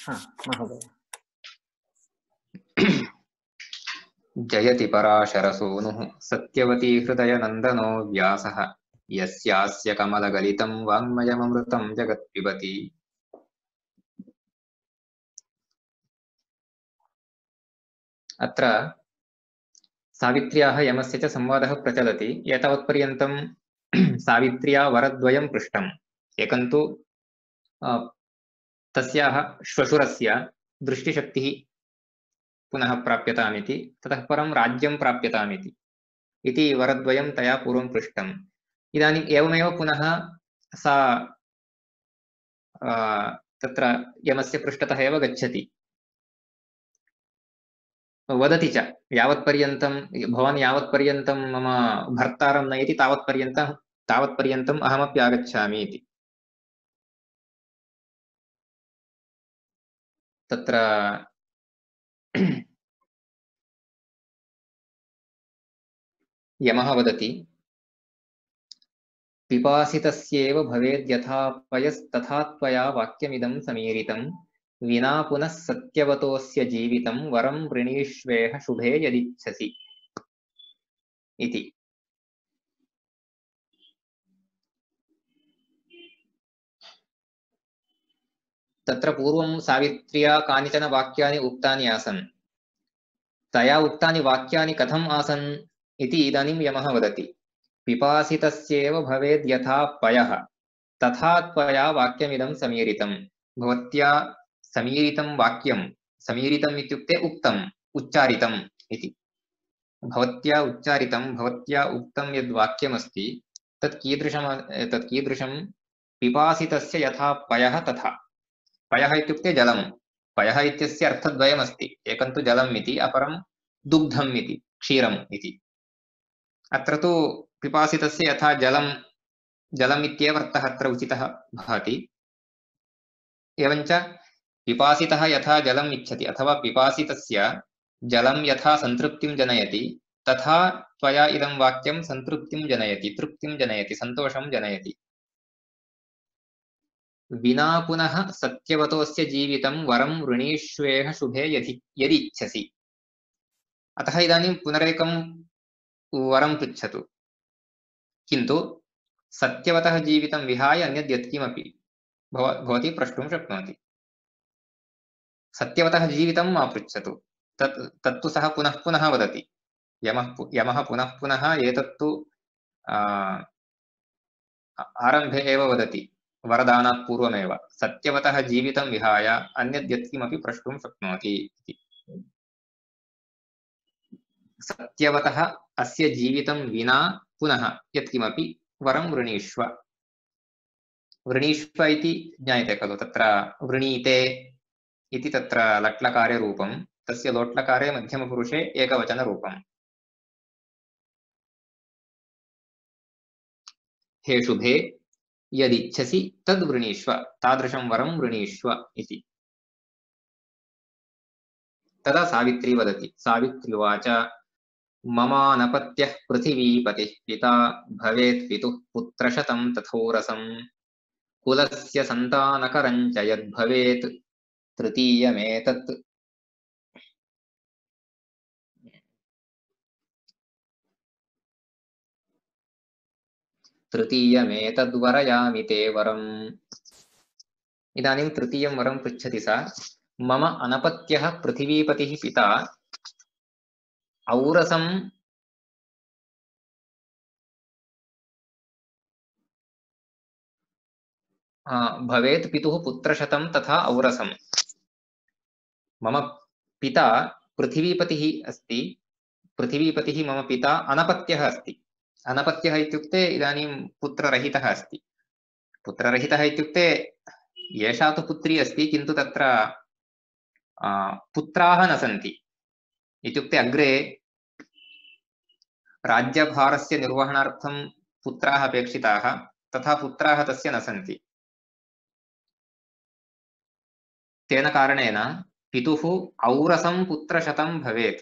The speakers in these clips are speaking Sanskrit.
महोदय। जयति पराशरसूनुः सत्यवती हृदयनन्दनो व्यासः यस्यास्य कमलगलितं वाङ्मयममृतं जगत्पिबति। अत्र सावित्र्याः यमस्य च संवादः प्रचलति। एतावत्पर्यन्तं सावित्र्या वरद्वयं पृष्टम्। एकं तु तस्याः श्वशुरस्य दृष्टिशक्तिः पुनः प्राप्यतामिति, ततः परं राज्यं प्राप्यतामिति इति वरद्वयं तया पूर्वं पृष्टम्। इदानीम् एवमेव पुनः सा तत्र यमस्य पृष्ठतः एव गच्छति, वदति च यावत्पर्यन्तं भवान् यावत्पर्यन्तं मम भर्तारं नयति तावत्पर्यन्तम् अहमपि आगच्छामि इति। तत्र यमः वदति पिपासितस्येव भवेद्यथा पयस्तथा त्वया वाक्यमिदं समीरितं विना पुनः सत्यवतोऽस्य जीवितं वरं वृणीष्वेह शुभे यदिच्छसि इति। तत्र पूर्वं सावित्र्या कानिचन वाक्यानि उक्तानि आसन्। तया उक्तानि वाक्यानि कथम् आसन् इति इदानीं यमः वदति। पिपासितस्येव भवेद् यथा पयः तथा त्वया वाक्यमिदं समीरितं। भवत्या समीरितं वाक्यं, समीरितम् इत्युक्ते उक्तम्, उच्चारितम् इति। भवत्या उच्चारितं, भवत्या उक्तं यद् वाक्यमस्ति तत् कीदृशं पिपासितस्य यथा पयः तथा। पयः इत्युक्ते जलं। पयः इत्यस्य अर्थद्वयमस्ति, एकं तु जलम् इति, अपरं दुग्धम् इति, क्षीरम् इति। अत्र तु पिपासितस्य यथा जलम् इत्येव अर्थः अत्र उचितः भाति। एवञ्च पिपासितः यथा जलम् इच्छति अथवा पिपासितस्य जलं यथा संतृप्तिं जनयति तथा त्वया इदं वाक्यं संतृप्तिं जनयति, तृप्तिं जनयति, सन्तोषं जनयति। विना पुनः सत्यवतोऽस्य जीवितं वरं वृणीष्वेह शुभे यदि इच्छसि। अतः इदानीं पुनरेकं वरं पृच्छतु, किन्तु सत्यवतः जीवितं विहाय अन्यद् यत्किमपि भवती प्रष्टुं शक्नोति। सत्यवतः जीवितं मा पृच्छतु, तत्तु सः पुनः पुनः वदति। यमः पुनः पुनः एतत्तु आरम्भे एव वदति, वरदानात् पूर्वमेव सत्यवतः जीवितं विहाय अन्यद् यत्किमपि प्रष्टुं शक्नोति इति। सत्यवतः अस्य जीवितं विना पुनः यत्किमपि वरं वृणीष्व। वृणीष्व इति ज्ञायते खलु, तत्र वृणीते इति तत्र लट्लकारे रूपं, तस्य लोट्लकारे मध्यमपुरुषे एकवचनरूपम्। हे शुभे यदिच्छसि तद् वृणीष्व, तादृशं वरं वृणीष्व इति। तदा सावित्री वदति। सावित्र्युवाच ममानपत्यः पृथिवीपतिः पिता भवेत् पितुः पुत्रशतं तथोरसं कुलस्य सन्तानकरं च यद्भवेत् तृतीयमेतत् तृतीयमेतद्वरयामि ते वरम्। इदानीं तृतीयं वरं पृच्छति सा। मम अनपत्यः पृथिवीपतिः पिता औरसं भवेत् पितुः पुत्रशतं तथा औरसं। मम पिता पृथिवीपतिः अस्ति, पृथिवीपतिः मम पिता अनपत्यः अस्ति। अनपत्यः इत्युक्ते इदानीं पुत्ररहितः अस्ति। पुत्ररहितः इत्युक्ते एषा तु पुत्री अस्ति, किन्तु तत्र पुत्राः न सन्ति। इत्युक्ते अग्रे राज्यभारस्य निर्वहणार्थं पुत्राः अपेक्षिताः, तथा पुत्राः तस्य न सन्ति। तेन कारणेन पितुः औरसं पुत्रशतं भवेत्।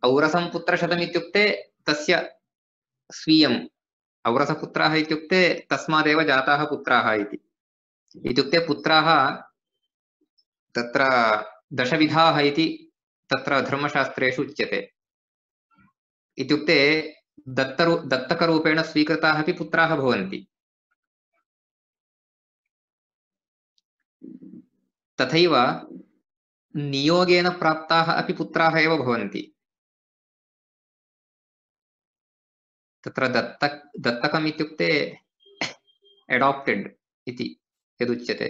औरसं पुत्रशतम् इत्युक्ते तस्य स्वीयम् औरसपुत्राः इत्युक्ते तस्मादेव जाताः पुत्राः इति। इत्युक्ते पुत्राः तत्र दशविधाः इति तत्र धर्मशास्त्रेषु उच्यते। इत्युक्ते दत्तकरूपेण स्वीकृताः अपि पुत्राः भवन्ति। तथैव नियोगेन प्राप्ताः अपि पुत्राः एव भवन्ति। तत्र दत्तकम् इत्युक्ते एडॉप्टेड इति यदुच्यते,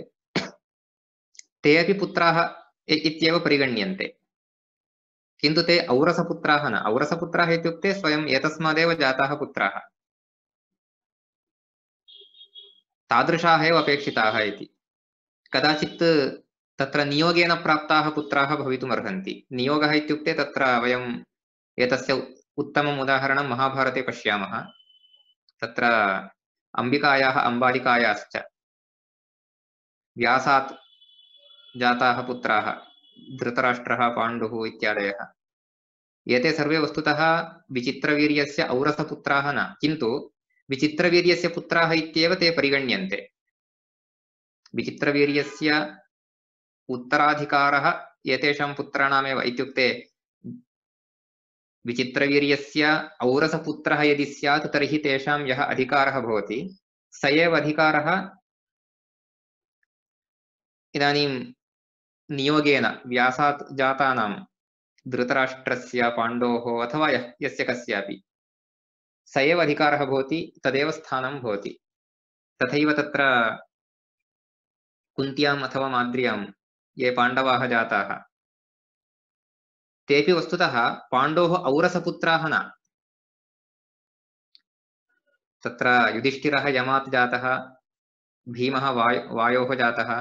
ते अपि पुत्राः इत्येव परिगण्यन्ते, किन्तु ते औरसपुत्राः न। औरसपुत्राः इत्युक्ते स्वयं एतस्मादेव जाताः पुत्राः, तादृशाः एव अपेक्षिताः इति। कदाचित् तत्र नियोगेन प्राप्ताः पुत्राः भवितुम् अर्हन्ति। नियोगः इत्युक्ते तत्र वयम् एतस्य उत्तमम् उदाहरणं महाभारते पश्यामः। तत्र अम्बिकायाः अम्बालिकायाश्च व्यासात् जाताः पुत्राः धृतराष्ट्रः पाण्डुः इत्यादयः, एते सर्वे वस्तुतः विचित्रवीर्यस्य औरसपुत्राः न, किन्तु विचित्रवीर्यस्य पुत्राः इत्येव ते परिगण्यन्ते। विचित्रवीर्यस्य उत्तराधिकारः एतेषां पुत्राणामेव, इत्युक्ते विचित्रवीर्यस्य औरसपुत्रः यदि स्यात् तर्हि तेषां यः अधिकारः भवति स एव अधिकारः इदानीं नियोगेन व्यासात् जातानां धृतराष्ट्रस्य पाण्डोः अथवा यस्य कस्यापि स एव अधिकारः भवति, तदेव स्थानं भवति। तथैव तत्र कुन्त्याम् अथवा माद्र्यां ये पाण्डवाः जाताः तेपि वस्तुतः पाण्डोः औरसपुत्राः न। तत्र युधिष्ठिरः यमात् जातः, भीमः वायोः जातः,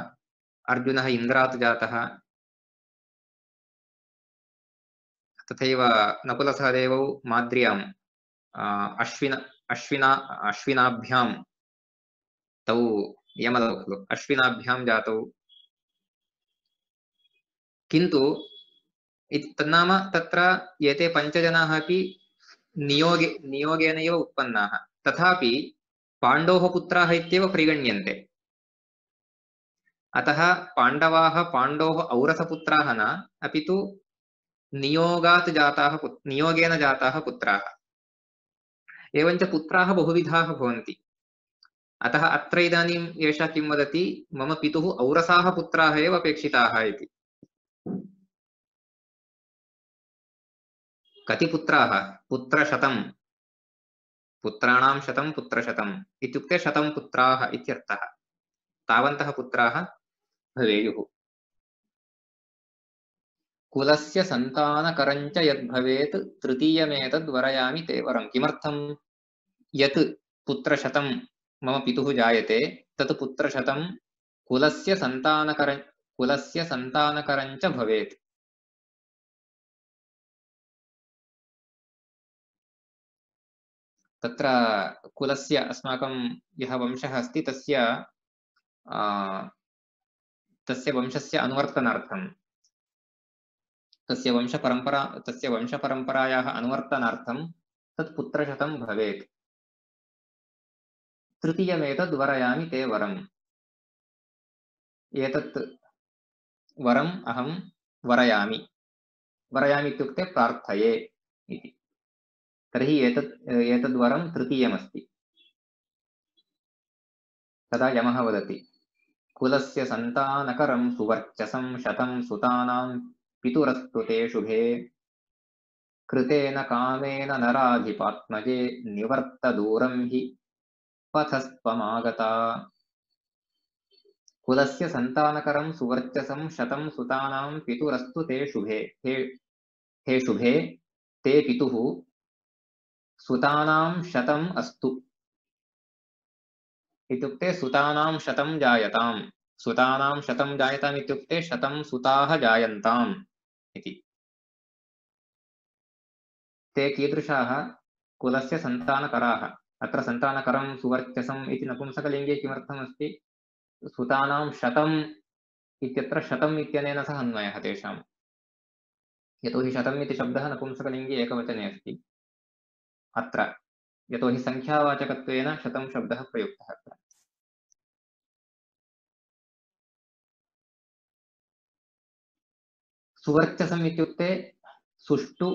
अर्जुनः इन्द्रात् जातः, तथैव नकुलसहदेवौ माद्र्याम् अश्विनाभ्यां तौ यमदौ खलु अश्विनाभ्यां जातौ। किन्तु तन्नाम तत्र एते पञ्चजनाः अपि नियोगेनैव उत्पन्नाः, तथापि पाण्डोः पुत्राः इत्येव परिगण्यन्ते। अतः पाण्डवाः पाण्डोः औरसपुत्राः न, अपि तु नियोगेन जाताः पुत्राः। एवञ्च पुत्राः बहुविधाः भवन्ति। अतः अत्र इदानीम् एषः किं वदति, मम पितुः औरसाः पुत्राः एव अपेक्षिताः इति। कति पुत्राः? पुत्रशतम्, पुत्राणां शतं पुत्रशतम् इत्युक्ते 100 पुत्राः इत्यर्थः। तावन्तः पुत्राः भवेयुः। कुलस्य सन्तानकरञ्च यद्भवेत् तृतीयमेतद् वरयामि ते वरम्। किमर्थं? यत् पुत्रशतं मम पितुः जायते तत् पुत्रशतं कुलस्य सन्तानकरञ्च भवेत्। तत्र कुलस्य अस्माकं यः वंशः अस्ति तस्य वंशस्य अनुवर्तनार्थं, तस्य वंशपरम्परायाः अनुवर्तनार्थं तत् पुत्रशतं भवेत्। तृतीयमेतद् वरयामि ते वरम्। एतत् वरम् अहं वरयामि। वरयामि इत्युक्ते प्रार्थये इति। तर्हि एतद्वरं तृतीयमस्ति। तदा यमः वदति, कुलस्य सन्तानकरं सुवर्चसं 100 सुतानां पितुरस्तु ते शुभे, कृतेन कामेन नराधिपात्मजे निवर्त दूरं हि पथस्त्वमागता। कुलस्य सन्तानकरं सुवर्चसं 100 सुतानां पितुरस्तु ते शुभे। हे शुभे, ते पितुः सुतानां 100 अस्तु इत्युक्ते सुतानां 100 जायताम्। सुतानां 100 जायताम् इत्युक्ते 100 सुताः जायन्ताम् इति। ते कीदृशाः? कुलस्य सन्तानकराः। अत्र सन्तानकरं सुवर्चसम् इति नपुंसकलिङ्गे किमर्थमस्ति? सुतानां 100 इत्यत्र 100 इत्यनेन सह अन्वयः तेषाम्। यतोहि 100 इति शब्दः नपुंसकलिङ्गे एकवचने अस्ति। अत्र यतोहि संख्यावाचकत्वेन शतं शब्दः प्रयुक्तः अत्र। सुवर्चसम् इत्युक्ते सुष्ठु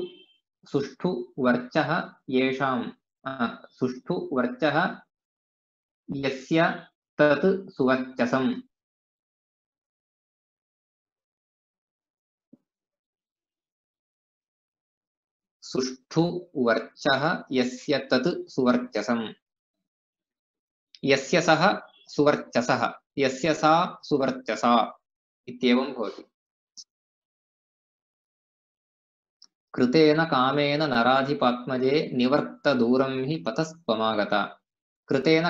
सुष्ठु वर्चः येषां सुष्ठु वर्चः यस्य तत् सुवर्चसम्। सुष्ठु वर्चः यस्य तत् सुवर्चसम्। यस्य सः सुवर्चसः, यस्य सा सुवर्चसा इत्येवं भवति। कृतेन कामेन नराधिपात्मजे निवर्तदूरं हि पथस्त्वमागता। कृतेन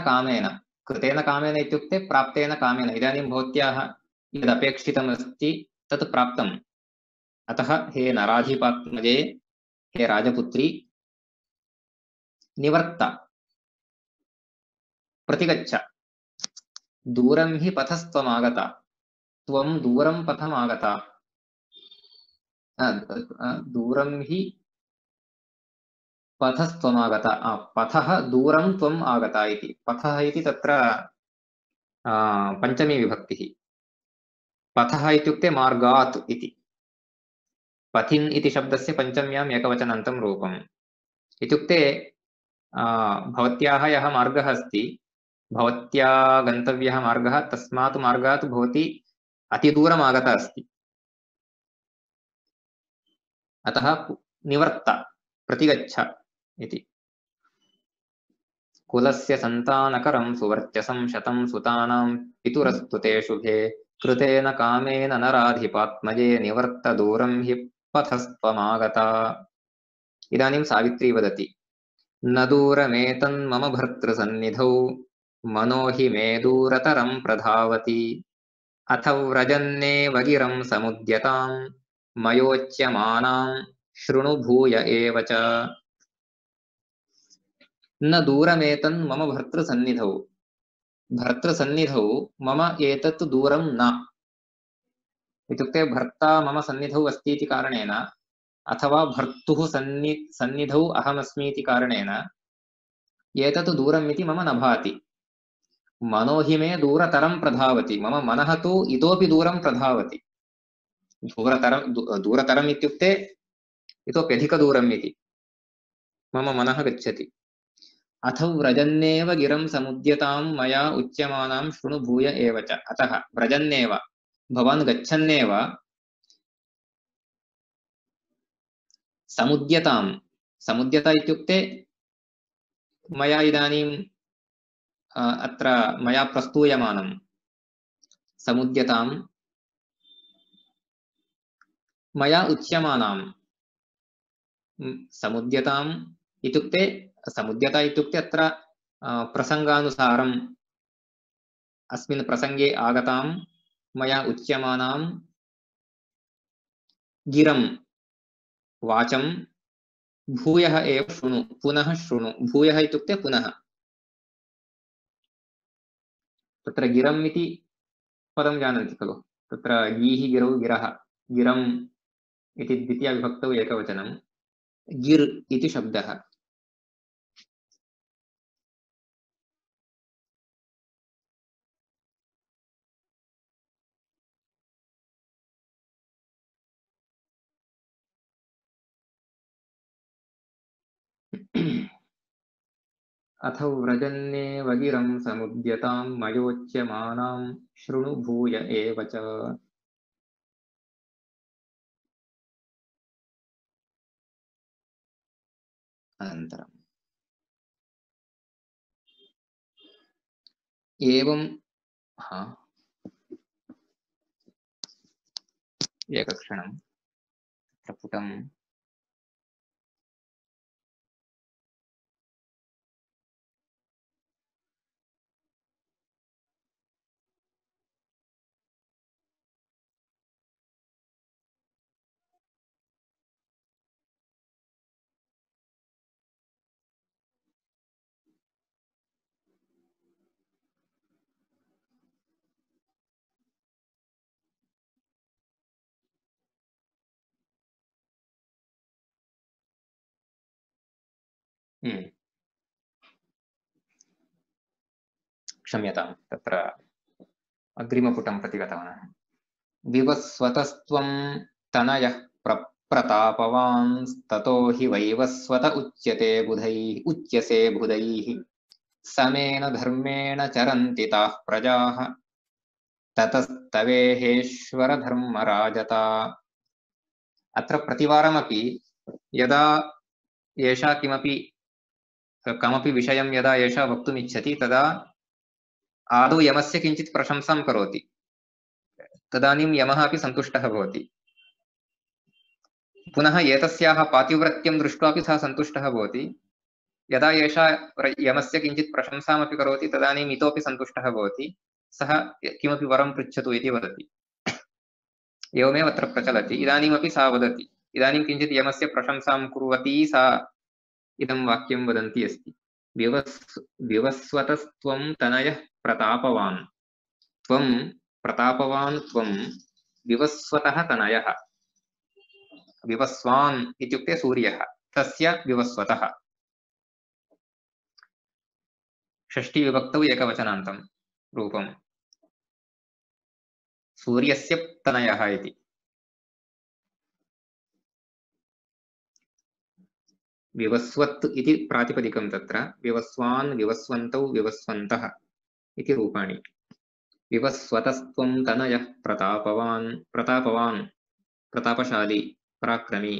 कामेन इत्युक्ते प्राप्तेन कामेन। इदानीं भवत्याः यदपेक्षितमस्ति तत् प्राप्तम्। अतः हे नराधिपात्मजे, हे राजपुत्री, निवर्त, प्रतिगच्छ। दूरं हि पथस्त्वमागता, त्वं दूरं पथमागता। दूरं हि पथस्त्वमागता, पथः दूरं त्वम् आगता इति। पथः इति तत्र पञ्चमी विभक्तिः। पथः इत्युक्ते मार्गात् इति। पथिन् इति शब्दस्य पञ्चम्याम् एकवचनान्तं रूपम्। इत्युक्ते भवत्याः यः मार्गः अस्ति, भवत्या गन्तव्यः मार्गः, तस्मात् मार्गात् भवती अतिदूरम् आगता अस्ति। अतः निवर्त, प्रतिगच्छ इति। कुलस्य सन्तानकरं सुवर्चसं शतं सुतानां पितुरस्तु ते शुभे। कृतेन कामेन नराधिपात्मजे निवर्त दूरं हि पथस्त्वमागता। इदानीं सावित्री वदति, न दूरमेतन्मम भर्तृसन्निधौ मनो हि मे दूरतरं प्रधावति। अथ व्रजन्नेव गिरं समुद्यतां मयोच्यमानां शृणु भूय एव च। न दूरमेतन् मम भर्तृसन्निधौ, भर्तृसन्निधौ मम एतत् दूरं न। इत्युक्ते भर्ता मम सन्निधौ अस्ति इति कारणेन, अथवा भर्तुः सन्निधौ अहमस्मि इति कारणेन एतत् दूरम् इति मम न भाति। मनो हि मे दूरतरं प्रधावति, मम मनः तु इतोपि दूरं प्रधावति। दूरतरम् इत्युक्ते इतोपि अधिकदूरम् इति मम मनः गच्छति। अथ व्रजन्नेव गिरं समुद्यतां मया उच्यमानां शृणु भूय एव च। अतः व्रजन्नेव, भवान् गच्छन्नेव, समुद्यतां, समुद्यता इत्युक्ते मया इदानीं अत्र मया प्रस्तूयमानं। समुद्यतां मया उच्यमानां, समुद्यताम् इत्युक्ते, समुद्यता इत्युक्ते अत्र प्रसङ्गानुसारम् अस्मिन् प्रसङ्गे आगतां मया उच्यमानां गिरं वाचं भूयः एव शृणु, पुनः शृणु। भूयः इत्युक्ते पुनः। तत्र गिरम् इति पदं जानन्ति खलु, तत्र गीः गिरौ गिरः, गिरम् इति द्वितीयाविभक्तौ एकवचनं, गिर् इति शब्दः। अथ व्रजन्नेव गिरं समुद्यतां मयोच्यमानां शृणु भूय एव च। अनन्तरम् एवं एकक्षणं प्रपुटम्। क्षम्यतां तत्र अग्रिमपुटं प्रति गतवान् विवस्वतस्त्वं तनयः प्रतापवांस्ततो हि वैवस्वत उच्यसे बुधैः समेन धर्मेण चरन्ति ताः प्रजाः ततस्तवेहेश्वर धर्मराजता अत्र प्रतिवारमपि यदा एषा कमपि विषयं यदा एषा वक्तुम् इच्छति तदा आदौ यमस्य किञ्चित् प्रशंसां करोति तदानीं यमः अपि सन्तुष्टः भवति पुनः एतस्याः पातिव्रत्यं दृष्ट्वापि सः सन्तुष्टः भवति यदा एषा यमस्य किञ्चित् प्रशंसामपि करोति तदानीम् इतोपि सन्तुष्टः भवति सः किमपि वरं पृच्छतु इति वदति एवमेव अत्र प्रचलति इदानीमपि सा वदति इदानीं किञ्चित् यमस्य प्रशंसां कुर्वती सा इदं वाक्यं वदन्ती अस्ति विवस्वतस्त्वं तनयः प्रतापवान् त्वं प्रतापवान् त्वं विवस्वतः तनयः विवस्वान् इत्युक्ते सूर्यः तस्य विवस्वतः षष्ठी विभक्तौ एकवचनान्तं रूपं सूर्यस्य तनयः इति विवस्वत् इति प्रातिपदिकं तत्र विवस्वान् विवस्वन्तौ विवस्वन्तः इति रूपाणि विवस्वतस्त्वं तनयः प्रतापवान् प्रतापशाली पराक्रमी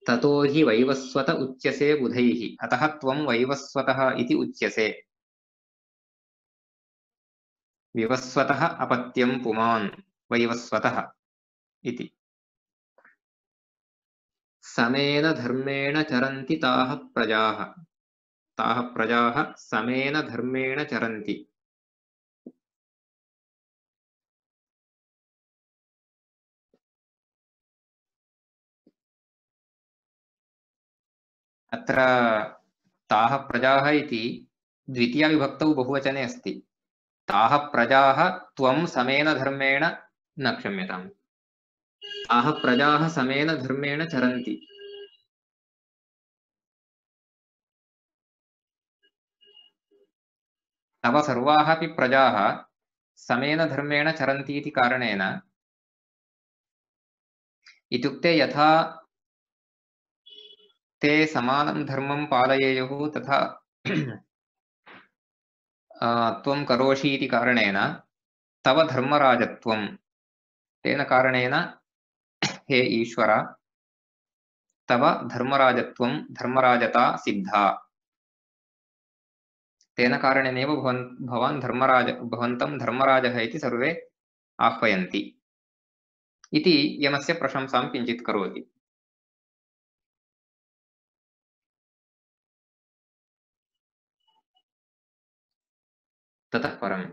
ततो हि वैवस्वत उच्यसे बुधैः अतः त्वं वैवस्वतः इति उच्यसे विवस्वतः अपत्यं पुमान् वैवस्वतः इति समेन धर्मेण चरन्ति ताः प्रजाः समेन धर्मेण चरन्ति अत्र ताः प्रजाः इति द्वितीया विभक्तौ बहुवचने अस्ति ताः प्रजाः त्वं समेन धर्मेण न क्षम्यताम् ताः प्रजाः समेन धर्मेण चरन्ति तव सर्वाः अपि प्रजाः समेन धर्मेण चरन्ति इति कारणेन इत्युक्ते यथा ते समानं धर्मं पालयेयुः तथा त्वं करोषि इति कारणेन तव धर्मराजत्वं तेन कारणेन हे ईश्वर तव धर्मराजत्वं धर्मराजता सिद्धा तेन कारणेनैव भवान् भवन्तं धर्मराजः इति सर्वे आह्वयन्ति इति यमस्य प्रशंसां किञ्चित् करोति ततः परम्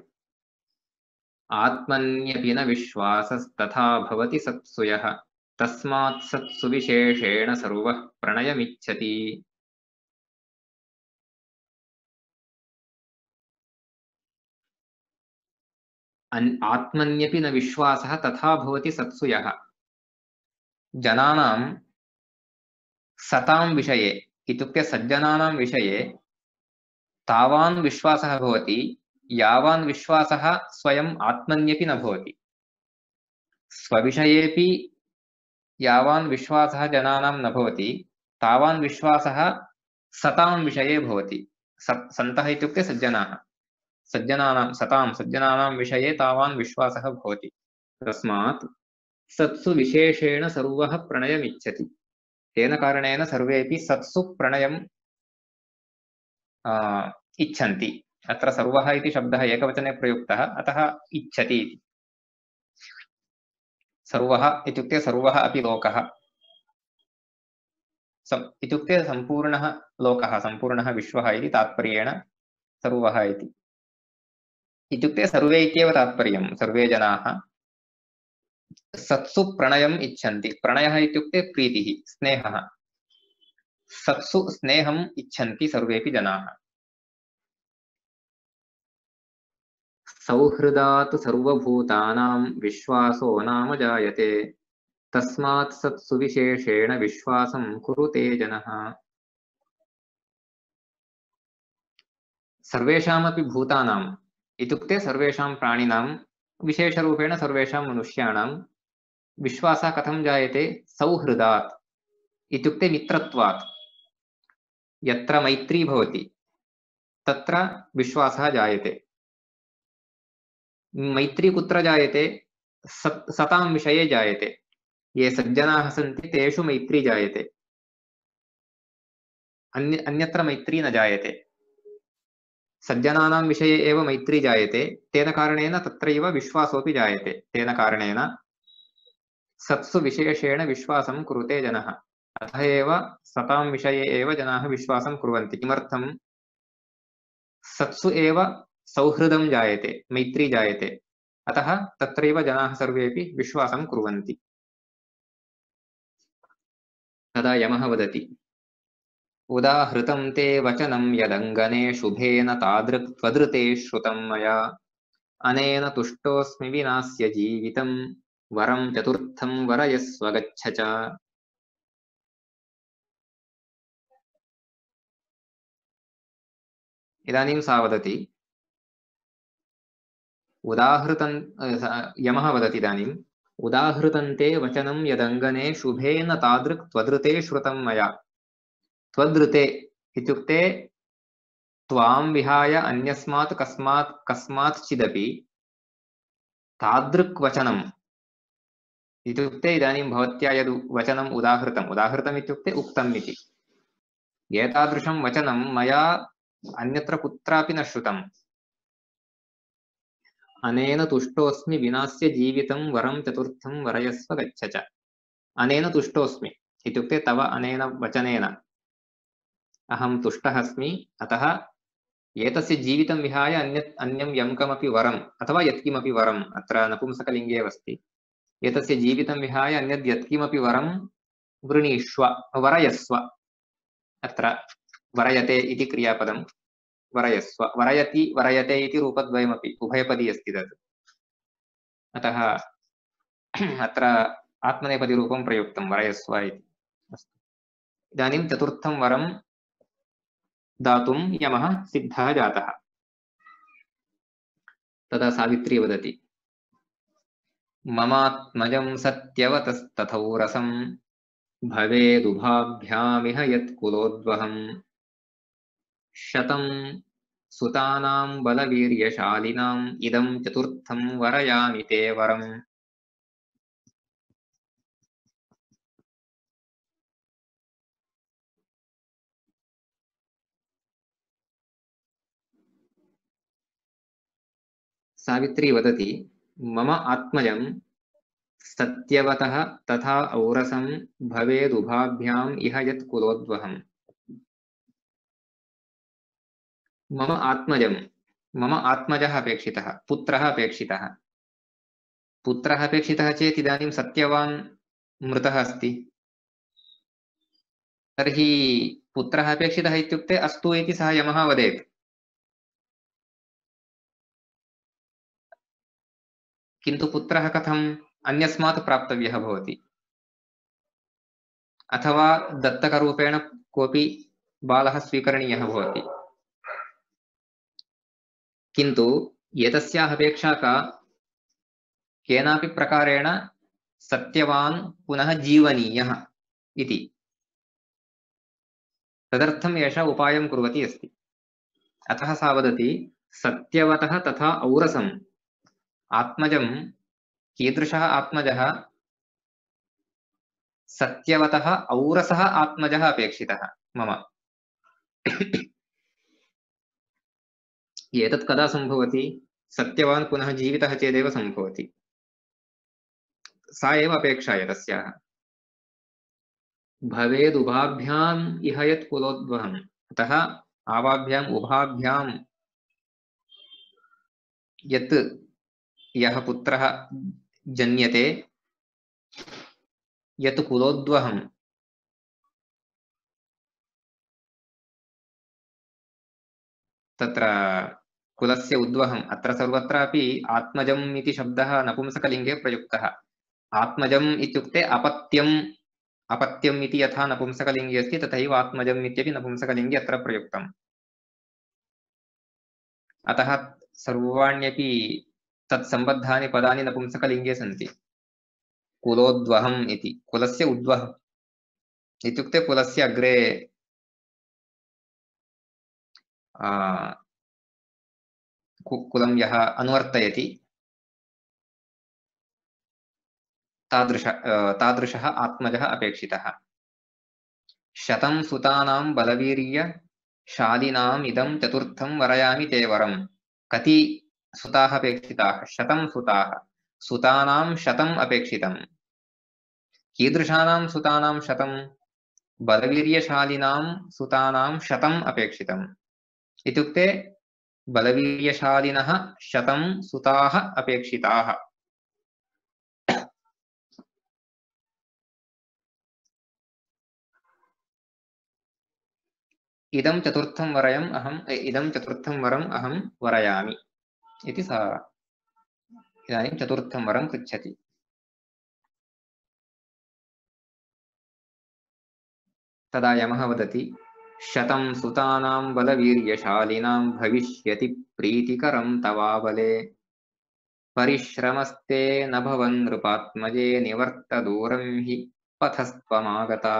आत्मन्यपि न विश्वासस्तथा भवति सत्सु यः तस्मात् सत्सु विशेषेण सर्वः प्रणयमिच्छति आत्मन्यपि न विश्वासः तथा भवति सत्सु यः जनानां सतां विषये इत्युक्ते सज्जनानां विषये तावान् विश्वासः भवति यावान् विश्वासः स्वयम् आत्मन्यपि न भवति स्वविषयेपि यावान् विश्वासः जनानां न भवति तावान् विश्वासः सतां विषये भवति सन्तः इत्युक्ते सज्जनाः सज्जनानां विषये तावान् विश्वासः भवति तस्मात् सत्सु विशेषेण सर्वः प्रणयमिच्छति तेन कारणेन सर्वेपि सत्सु प्रणयम् इच्छन्ति अत्र सर्वः इति शब्दः एकवचने प्रयुक्तः अतः इच्छति सर्वः इत्युक्ते सर्वः अपि लोकः इत्युक्ते सम्पूर्णः लोकः सम्पूर्णः विश्वः इति तात्पर्येण सर्वः इत्युक्ते सर्वे इत्येव तात्पर्यं सर्वे जनाः सत्सु प्रणयम् इच्छन्ति प्रणयः इत्युक्ते प्रीतिः स्नेहः सत्सु स्नेहम् इच्छन्ति सर्वेपि जनाः सौहृदात् सर्वभूतानां विश्वासो नाम जायते तस्मात् सत्सु विशेषेण विश्वासं कुरुते जनः सर्वेषामपि भूतानाम् इत्युक्ते सर्वेषां प्राणिनां विशेषरूपेण सर्वेषां मनुष्याणां विश्वासः कथं जायते? सौहृदात् इत्युक्ते मित्रत्वात्। यत्र मैत्री भवति तत्र विश्वासः जायते। मैत्री कुत्र जायते? सतां विषये जायते। ये सज्जनाः सन्ति तेषु मैत्री जायते, अन्यत्र मैत्री न जायते। सज्जनानां विषये एव मैत्री जायते, तेन कारणेन तत्रैव विश्वासोऽपि जायते। तेन कारणेन सत्सु विशेषेण विश्वासं कुरुते जनः। अतः एव सतां विषये एव जनाः विश्वासं कुर्वन्ति। किमर्थं? सत्सु एव सौहृदं जायते, मैत्री जायते। अतः तत्रैव जनाः सर्वेपि विश्वासं कुर्वन्ति। तदा यमः वदति, उदाहृतं ते वचनं यदङ्गने शुभेन तादृक् त्वदृते श्रुतं मया, अनेन तुष्टोऽस्मि विनास्य जीवितं वरं चतुर्थं वरयस्व गच्छ च। इदानीं सा वदति, यमः वदति इदानीम्, उदाहृतं ते वचनं यदङ्गने शुभेन तादृक् त्वदृते श्रुतं मया। त्वदृते इत्युक्ते त्वां विहाय अन्यस्मात् कस्मात्चिदपि तादृक् वचनम् इत्युक्ते इदानीं भवत्या यद् वचनम् उदाहृतम् इत्युक्ते उक्तम् इति। एतादृशं वचनं मया अन्यत्र कुत्रापि न श्रुतम्। अनेन तुष्टोऽस्मि विनास्य जीवितं वरं चतुर्थं वरयस्व गच्छ च। अनेन तुष्टोऽस्मि इत्युक्ते तव अनेन वचनेन अहं तुष्टः अस्मि। अतः एतस्य जीवितं विहाय अन्यं यं कमपि वरम् अथवा यत्किमपि वरम्, अत्र नपुंसकलिङ्गे एव अस्ति, एतस्य जीवितं विहाय अन्यद् यत्किमपि वरं वृणीष्व, वरयस्व। अत्र वरयते इति क्रियापदं, वरयस्व, वरयति वरयते इति रूपद्वयमपि उभयपदी अस्ति तत्। अतः अत्र आत्मनेपदीरूपं प्रयुक्तं, वरयस्व इति। इदानीं चतुर्थं वरं दातुं यमः सिद्धः जातः। तदा सावित्री वदति, ममात्मजं सत्यवतस्तथौरसं भवेदुभाभ्यामिह यत्कुलोद्वहं शतं सुतानां बलवीर्यशालिनाम् इदं चतुर्थं वरयामि ते वरम्। सावित्री वदति, मम आत्मजं सत्यवतः तथा औरसं भवेदुभाभ्याम् इह यत्कुलोद्वहम्। मम आत्मजं, मम आत्मजः अपेक्षितः, पुत्रः अपेक्षितः। पुत्रः अपेक्षितः चेत् इदानीं सत्यवान् मृतः अस्ति, तर्हि पुत्रः अपेक्षितः इत्युक्ते अस्तु इति सः यमः वदेत्। किन्तु पुत्रः कथम्? अन्यस्मात् प्राप्तव्यः भवति, अथवा दत्तकरूपेण कोऽपि बालः स्वीकरणीयः भवति। किन्तु एतस्याः अपेक्षा का? केनापि प्रकारेण सत्यवान् पुनः जीवनीयः इति। तदर्थम् एषा उपायं कुर्वती अस्ति। अतः सा वदति, सत्यवतः तथा औरसम्। आत्मजं कीदृशः आत्मजः? सत्यवतः औरसः आत्मजः अपेक्षितः मम। एतत् कदा सम्भवति? सत्यवान् पुनः जीवितः चेदेव सम्भवति। सा एव अपेक्षा तस्याः। भवेदुभाभ्याम् इह यत् कुलोद्वहम्। अतः आवाभ्याम् उभाभ्यां यत् यः पुत्रः जन्यते, यत् कुलोद्वहम्, तत्र कुलस्य उद्वहम्। अत्र सर्वत्रापि आत्मजम् इति शब्दः नपुंसकलिङ्गे प्रयुक्तः। आत्मजम् इत्युक्ते अपत्यम्, अपत्यम् इति यथा नपुंसकलिङ्गे अस्ति तथैव आत्मजम् इत्यपि नपुंसकलिङ्गे अत्र प्रयुक्तम्। अतः सर्वाण्यपि तत्सम्बद्धानि पदानि नपुंसकलिङ्गे सन्ति। कुलोद्वहम् इति, कुलस्य उद्वहम् इत्युक्ते कुलस्य अग्रे कुलं यः अनुवर्तयति तादृशः आत्मजः अपेक्षितः। शतं सुतानां बलवीर्यशालिनाम् इदं चतुर्थं वरयामि ते वरम्। कति सुताः अपेक्षिताः? 100 सुताः। सुतानां 100 अपेक्षितम्। कीदृशानां सुतानां 100? बलवीर्यशालिनां सुतानां 100 अपेक्षितम्। इत्युक्ते बलवीर्यशालिनः 100 सुताः अपेक्षिताः। इदं चतुर्थं वरम् अहं वरयामि इति सा इदानीं चतुर्थं वरं पृच्छति। तदा यमः वदति 100 सुतानां बलवीर्यशालिनां भविष्यति प्रीतिकरं तवाबले परिश्रमस्ते न भवन् नृपात्मजे निवर्त दूरं हि पथस्त्वमागता।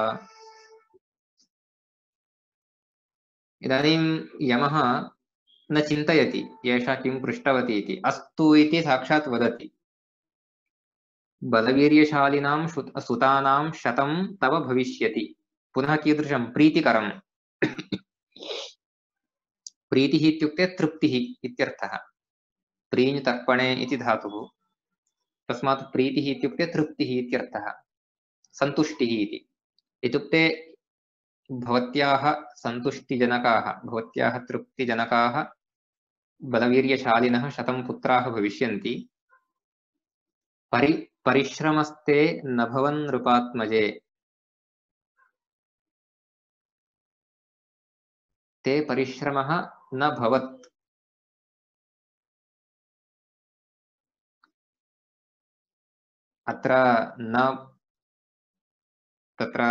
इदानीं यमः न चिन्तयति एषा किं पृष्टवती इति, अस्तु इति साक्षात् वदति। बलवीर्यशालिनां सुतानां 100 तव भविष्यति। पुनः कीदृशं? प्रीतिकरं। प्रीतिः इत्युक्ते तृप्तिः इत्यर्थः। प्रीञ् तर्पणे इति धातुः, तस्मात् प्रीतिः इत्युक्ते तृप्तिः इत्यर्थः, सन्तुष्टिः इति। इत्युक्ते भवत्याः सन्तुष्टिजनकाः, भवत्याः तृप्तिजनकाः बलवीर्यशालिनः 100 पुत्राः भविष्यन्ति। परिश्रमस्ते न भवन् नृपात्मजे, ते परिश्रमः न भवत्। अत्र न तत्र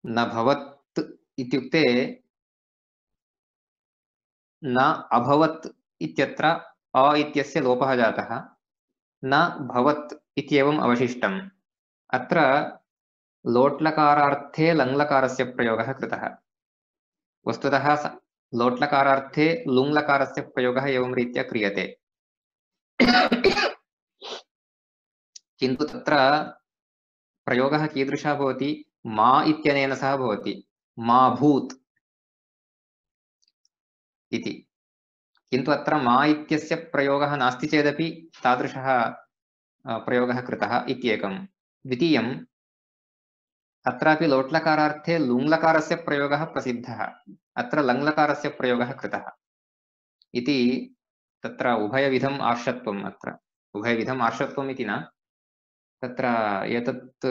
न भवत् इत्युक्ते न अभवत् इत्यत्र अ इत्यस्य लोपः जातः, न भवत् इत्येवम् अवशिष्टम्। अत्र लोट्लकारार्थे लङ्लकारस्य प्रयोगः कृतः। वस्तुतः लोट्लकारार्थे लुङ्लकारस्य प्रयोगः एवं रीत्या क्रियते, किन्तु तत्र प्रयोगः कीदृशः भवति? मा इत्यनेन सह भवति, मा भूत् इति। किन्तु अत्र मा इत्यस्य प्रयोगः नास्ति चेदपि तादृशः प्रयोगः कृतः इत्येकं। द्वितीयम्, अत्रापि लोट्लकारार्थे लुङ्लकारस्य प्रयोगः प्रसिद्धः, अत्र लङ्लकारस्य प्रयोगः कृतः इति। तत्र उभयविधम् आर्षत्वम्, अत्र उभयविधम् आर्षत्वम् इति न, तत्र एतत्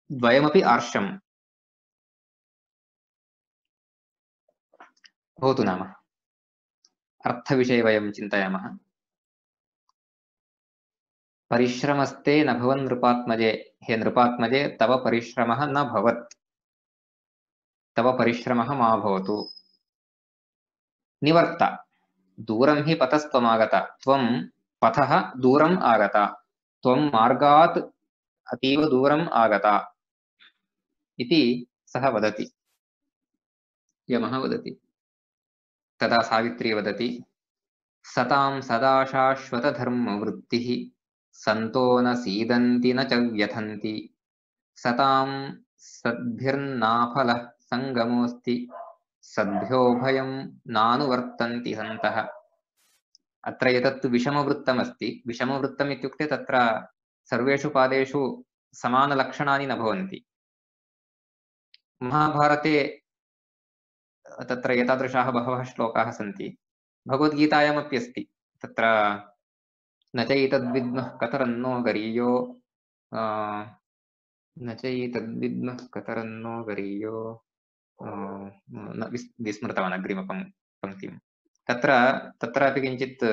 द्वयमपि आर्षम् भवतु। नाम अर्थविषये वयं चिन्तयामः। परिश्रमस्ते न भवन् नृपात्मजे, हे नृपात्मजे तव परिश्रमः न भवत्, तव परिश्रमः मा भवतु। निवर्त, दूरं हि पथस्त्वमागता, त्वं पथः दूरम् आगता, त्वं मार्गात् अतीव दूरम् आगता इति सः वदति, यमः वदति। तदा सावित्री वदति सतां सदा शाश्वतधर्मवृत्तिः सन्तो न सीदन्ति न च व्यथन्ति सतां सद्भिर्नाफलः सङ्गमोऽस्ति सद्भ्यो भयं नानुवर्तन्ति सन्तः। अत्र एतत् विषमवृत्तमस्ति। विषमवृत्तम् इत्युक्ते तत्र सर्वेषु पादेषु समानलक्षणानि न भवन्ति। महाभारते तत्र एतादृशाः बहवः श्लोकाः सन्ति, भगवद्गीतायामपि अस्ति। तत्र न चैतद्विद्मः कतरन्नो गरीयो न चैतद्विद्मः कतरन्नो गरीयो न विस्मृतवान् अग्रिमपङ्क्तिं। तत्रापि किञ्चित्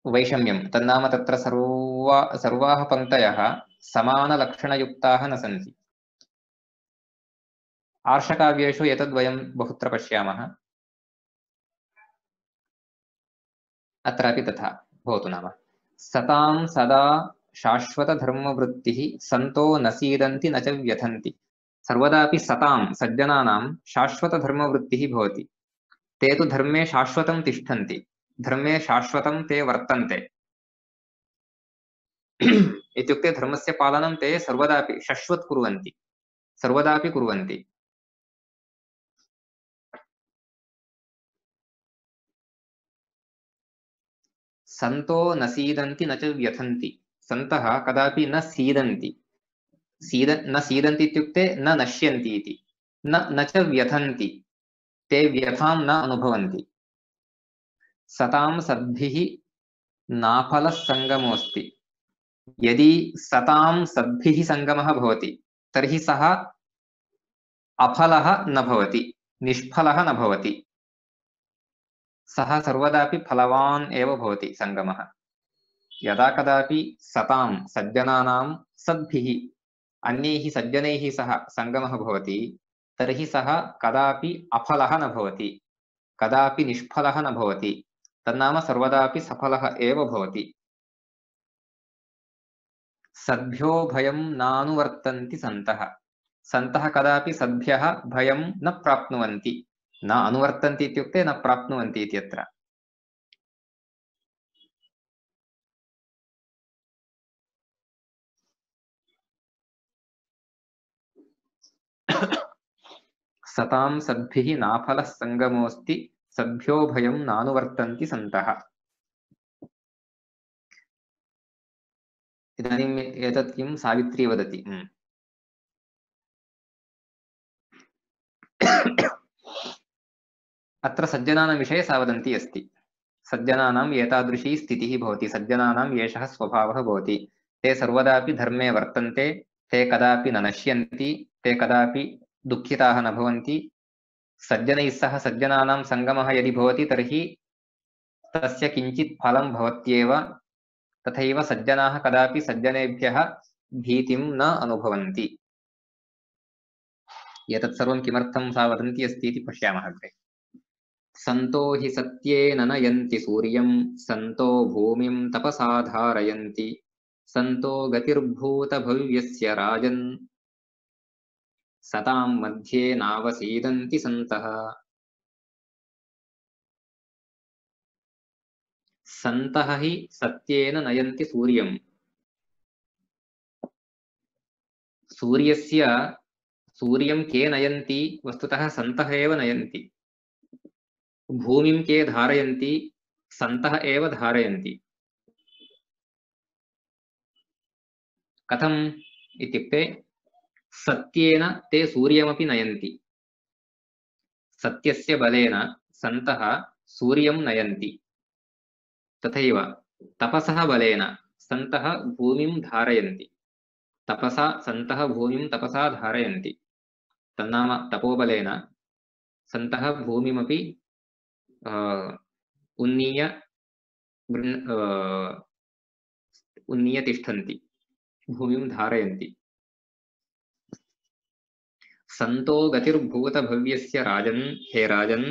वैषम्यं, तन्नाम तत्र सर्वाः पङ्क्तयः समानलक्षणयुक्ताः न सन्ति। आर्षकाव्येषु एतद्वयं बहुत्र पश्यामः। अत्रापि तथा भवतु नाम सतां सदा शाश्वतधर्मवृत्तिः सन्तो न सीदन्ति न च व्यथन्ति। सर्वदापि सतां सज्जनानां शाश्वतधर्मवृत्तिः भवति। ते तु धर्मे शाश्वतं तिष्ठन्ति, धर्मे शाश्वतं ते वर्तन्ते। इत्युक्ते धर्मस्य पालनं ते सर्वदापि शाश्वत कुर्वन्ति, सर्वदापि कुर्वन्ति। सन्तो न सीदन्ति न च व्यथन्ति। सन्तः कदापि न सीदन्ति, न सीदन्ति इत्युक्ते न नश्यन्ति इति। न च व्यथन्ति, ते व्यथां न अनुभवन्ति। सतां सद्भिः नाफलः सङ्गमोऽस्ति। यदि सतां सद्भिः सङ्गमः भवति तर्हि सः अफलः न भवति, निष्फलः न भवति। सः सर्वदापि फलवान् एव भवति सङ्गमः। यदा कदापि सतां सज्जनानां सद्भिः अन्यैः सज्जनैः सह सङ्गमः भवति तर्हि सः कदापि अफलः न भवति, कदापि निष्फलः न भवति, तन्नाम सर्वदापि सफलः एव भवति। सद्भ्यो भयं नानुवर्तन्ति सन्तः। सन्तः कदापि सद्भ्यः भयं न प्राप्नुवन्ति। न अनुवर्तन्ति इत्युक्ते न प्राप्नुवन्ति इत्यत्र। सतां सद्भिः नाफलः सङ्गमोऽस्ति, सद्भ्यो भयं नानुवर्तन्ति सन्तः। इदानीम् एतत् किं सावित्री वदति। अत्र सज्जनानां विषये सा वदन्ती अस्ति। सज्जनानाम् एतादृशी स्थितिः भवति, सज्जनानाम् एषः स्वभावः भवति। ते सर्वदापि धर्मे वर्तन्ते, ते कदापि न नश्यन्ति, ते कदापि दुःखिताः न भवन्ति। सज्जनैः सह सज्जनानां सङ्गमः यदि भवति तर्हि तस्य किञ्चित् फलं भवत्येव। तथैव सज्जनाः कदापि सज्जनेभ्यः भीतिं न अनुभवन्ति। एतत् सर्वं किमर्थं सा वदन्ती अस्ति इति पश्यामः अग्रे। सन्तो हि सत्येन नयन्ति सूर्यं, सन्तो भूमिं तपसा धारयन्ति, सन्तो गतिर्भूतभव्यस्य राजन्, सतां मध्ये नावसीदन्ति सन्तः। सन्तः हि सत्येन नयन्ति सूर्यं। सूर्यं के नयन्ति? वस्तुतः सन्तः एव नयन्ति। भूमिं के धारयन्ति? सन्तः एव धारयन्ति। कथम् इत्युक्ते सत्येन ते सूर्यमपि नयन्ति। सत्यस्य बलेन सन्तः सूर्यं नयन्ति। तथैव तपसः बलेन सन्तः भूमिं धारयन्ति। तपसा सन्तः भूमिं तपसा धारयन्ति। तन्नाम तपोबलेन सन्तः भूमिमपि उन्नीय तिष्ठन्ति, भूमिं धारयन्ति। सन्तो गतिर्भूतभव्यस्य राजन्, हे राजन्,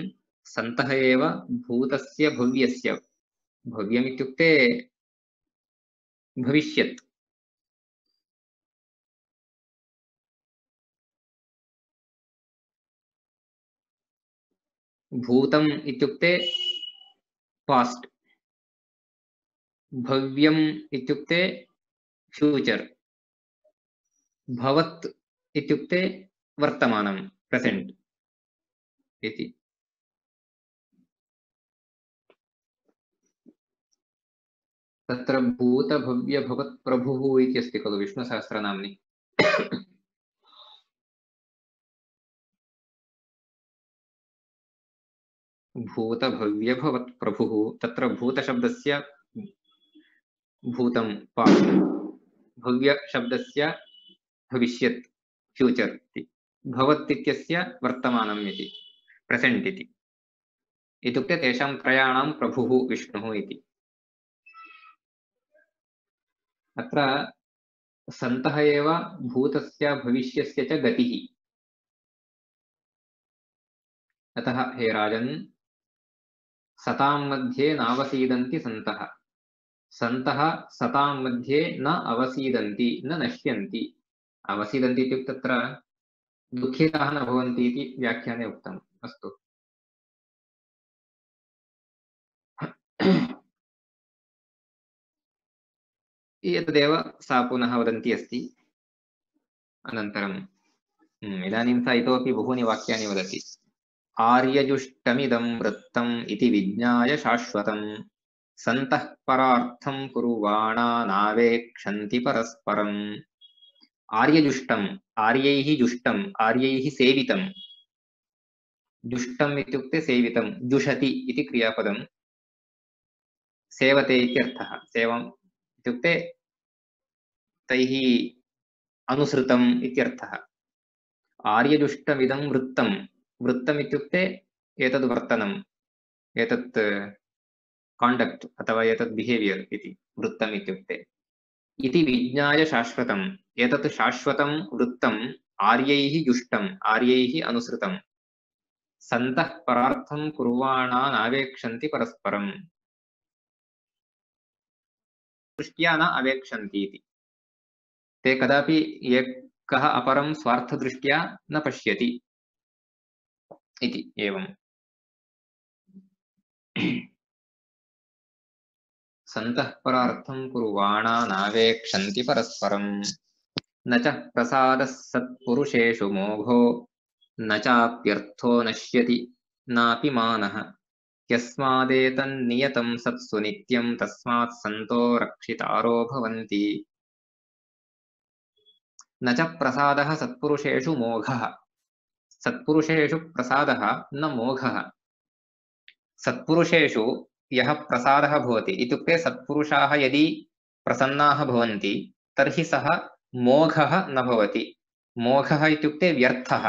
सन्तः एव भूतस्य भव्यस्य, भव्यमित्युक्ते भविष्यत्, भूतम् इत्युक्ते पास्ट्, भव्यम् इत्युक्ते फ्यूचर्, भवत् इत्युक्ते वर्तमानं प्रेसेंट इति। तत्र भूतभव्यभवत् प्रभुः इति अस्ति खलु विष्णुसहस्रनाम्नि। भूतभव्यभवत् प्रभुः, तत्र भूतशब्दस्य भूतं पास्ट्, भव्यशब्दस्य भविष्यत् फ्यूचर् इति, भवत् इत्यस्य वर्तमानम् इति, प्रेसेंट इति। इत्युक्ते तेषां त्रयाणां प्रभुः विष्णुः इति। अत्र सन्तः एव भूतस्य भविष्यस्य च गतिः। अतः हे राजन् सतां मध्ये नावसीदन्ति सन्तः सन्तः सतां मध्ये न अवसीदन्ति न नश्यन्ति अवसीदन्ति इत्युक्ते तत्र दुःखिताः न भवन्ति इति व्याख्याने उक्तम् अस्तु एतदेव सा पुनः वदन्ती अस्ति अनन्तरम् इदानीं सा इतोपि बहूनि वाक्यानि वदति आर्यजुष्टमिदं वृत्तम् इति विज्ञाय शाश्वतं सन्तः परार्थं कुर्वाणा नावेक्षन्ति परस्परम् आर्यजुष्टम् आर्यैः जुष्टम् आर्यैः सेवितं जुष्टम् इत्युक्ते सेवितं जुषति इति क्रियापदं सेवते इत्यर्थः सेवम् इत्युक्ते तैः अनुसृतम् इत्यर्थः आर्यजुष्टमिदं वृत्तं वृत्तम् इत्युक्ते एतद् वर्तनम् एतत् काण्डक्ट् अथवा एतत् बिहेवियर् इति वृत्तम् इत्युक्ते इति विज्ञाय शाश्वतम् एतत् शाश्वतं वृत्तम् आर्यैः जुष्टम् आर्यैः अनुसृतम् सन्तः परार्थं कुर्वाणा नावेक्षन्ति परस्परम् दृष्ट्या न अवेक्षन्ति इति ते कदापि एकः अपरं स्वार्थदृष्ट्या न पश्यति इति एवम् सन्तः परार्थं कुर्वाणा नावेक्षन्ति परस्परम् न च प्रसादः सत्पुरुषेषु मोघो न चाप्यर्थो नश्यति नापि मानः यस्मादेतन्नियतं सत्सु नित्यं तस्मात् सन्तो रक्षितारो भवन्ति न च प्रसादः सत्पुरुषेषु मोघः सत्पुरुषेषु प्रसादः न मोघः सत्पुरुषेषु यः प्रसादः भवति इत्युक्ते सत्पुरुषाः यदि प्रसन्नाः भवन्ति तर्हि सः मोघः न भवति मोघः इत्युक्ते व्यर्थः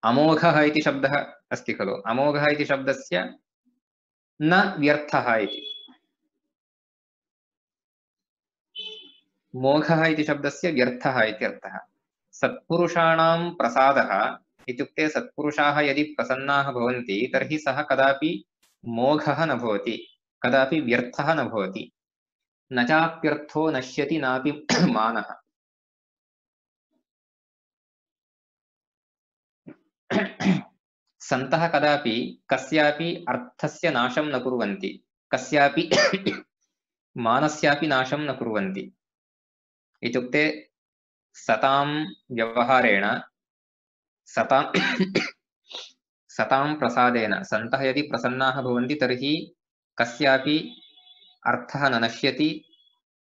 अमोघः इति शब्दः अस्ति खलु अमोघः इति शब्दस्य न व्यर्थः इति मोघः इति शब्दस्य व्यर्थः इति अर्थः सत्पुरुषाणां प्रसादः इत्युक्ते सत्पुरुषाः यदि प्रसन्नाः भवन्ति तर्हि सः कदापि मोघः न भवति कदापि व्यर्थः न भवति न चाप्यर्थो नश्यति नापि मानः सन्तः कदापि कस्यापि अर्थस्य नाशं न कुर्वन्ति कस्यापि मानस्यापि नाशं न कुर्वन्ति इत्युक्ते सतां व्यवहारेण सतां प्रसादेन सन्तः यदि प्रसन्नाः भवन्ति तर्हि कस्यापि अर्थः न नश्यति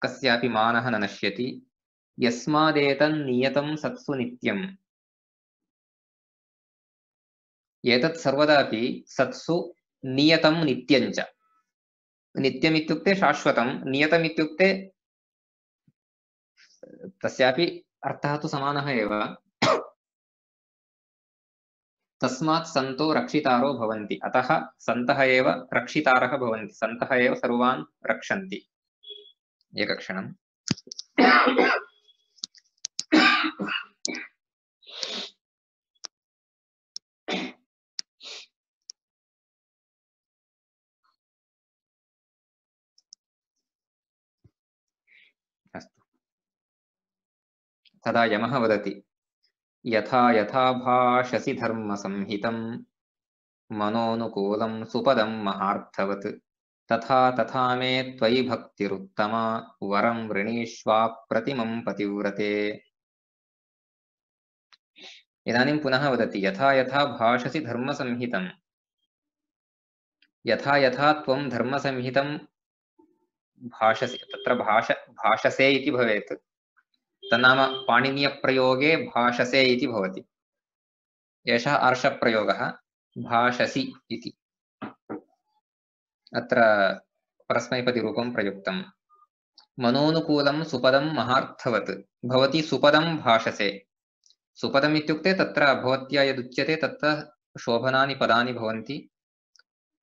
कस्यापि मानः न नश्यति यस्मादेतन्नियतं सत्सु नित्यम् एतत् सर्वदापि सत्सु नियतं नित्यञ्च नित्यम् इत्युक्ते शाश्वतं नियतम् इत्युक्ते तस्यापि अर्थः तु समानः एव तस्मात् सन्तो रक्षितारो भवन्ति अतः सन्तः एव रक्षितारः भवन्ति सन्तः एव सर्वान् रक्षन्ति एकक्षणम् अस्तु तदा यमः वदति यथा यथा भाषसि धर्मसंहितं मनोनुकूलं सुपदं महार्थवत् तथा तथा मे त्वयि भक्तिरुत्तमा वरं वृणीष्वाप्रतिमं पतिव्रते इदानीं पुनः वदति यथा यथा भाषसि धर्मसंहितं यथा यथा त्वं धर्मसंहितं भाषसि तत्र भाषसे इति भवेत् तन्नाम पाणिनीयप्रयोगे भाषसे इति भवति एषः आर्षप्रयोगः भाषसि इति अत्र परस्मैपदिरूपं प्रयुक्तं मनोनुकूलं सुपदं महार्थवत् भवति सुपदं भाषसे सुपदम् इत्युक्ते तत्र भवत्या यदुच्यते तत्र शोभनानि पदानि भवन्ति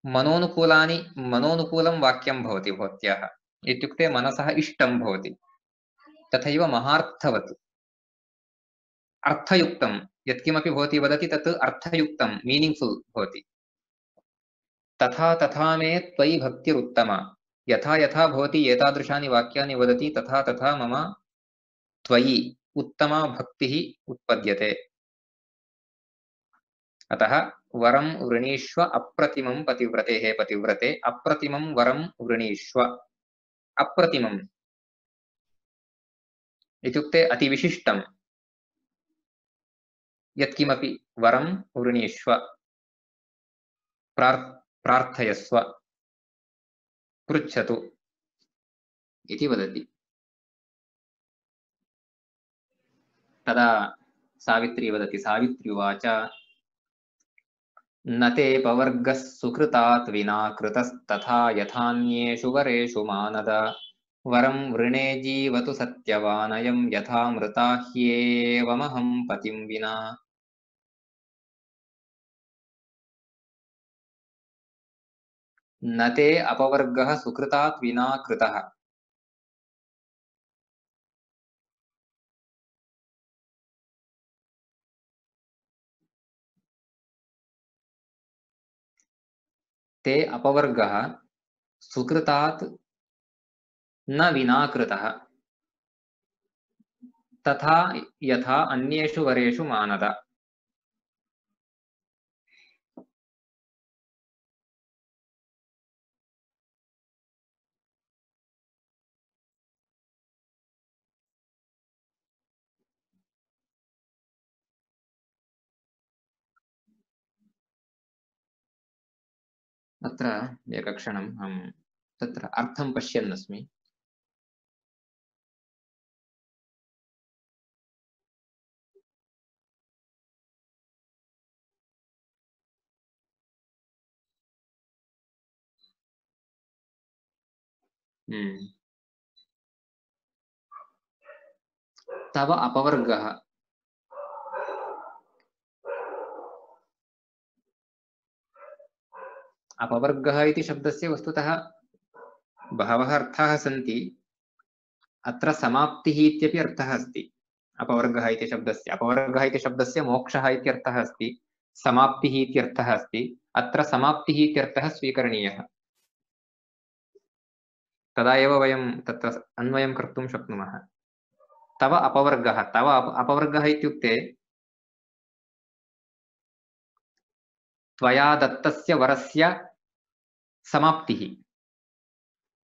मनोनुकूलं वाक्यं भवति भवत्याः इत्युक्ते मनसः इष्टं भवति तथैव महार्थवत् अर्थयुक्तम् यत्किमपि भवती वदति तत् अर्थयुक्तं मीनिङ्ग्फुल् भवति। तथा तथा मे त्वयि भक्तिरुत्तमा, यथा यथा भवती एतादृशानि वाक्यानि वदति तथा तथा मम त्वयि उत्तमा भक्तिः उत्पद्यते। अतः वरं वृणीष्व अप्रतिमं पतिव्रते, हे पतिव्रते अप्रतिमं वरं वृणीष्व। अप्रतिमम् इत्युक्ते अतिविशिष्टं यत्किमपि वरं वृणीष्व, प्रार्थयस्व, पृच्छतु इति वदति। तदा सावित्री वदति, सावित्री उवाच न ते पवर्गः सुकृतात् विना कृतस्तथा यथान्येषु वरेषु मानद, वरं वृणे जीवतु सत्यवानयं यथा मृता ह्येवमहं पतिं विना। न ते अपवर्गः सुकृतात् विना कृतः, ते अपवर्गः सुकृतात् न विना कृतः तथा यथा अन्येषु वरेषु मानद। अत्र एकक्षणम् अहं तत्र अर्थं पश्यन् अस्मि। तव अपवर्गः, अपवर्गः इति शब्दस्य वस्तुतः बहवः अर्थाः सन्ति। अत्र समाप्तिः इत्यपि अर्थः अस्ति। अपवर्गः इति शब्दस्य, अपवर्गः इति शब्दस्य मोक्षः इति अर्थः अस्ति, समाप्तिः इति अर्थः अस्ति। अत्र समाप्तिः इत्यर्थः स्वीकरणीयः, तदा एव वयं तत्र अन्वयं कर्तुं शक्नुमः। तव अपवर्गः, तव अपवर्गः इत्युक्ते त्वया दत्तस्य वरस्य समाप्तिः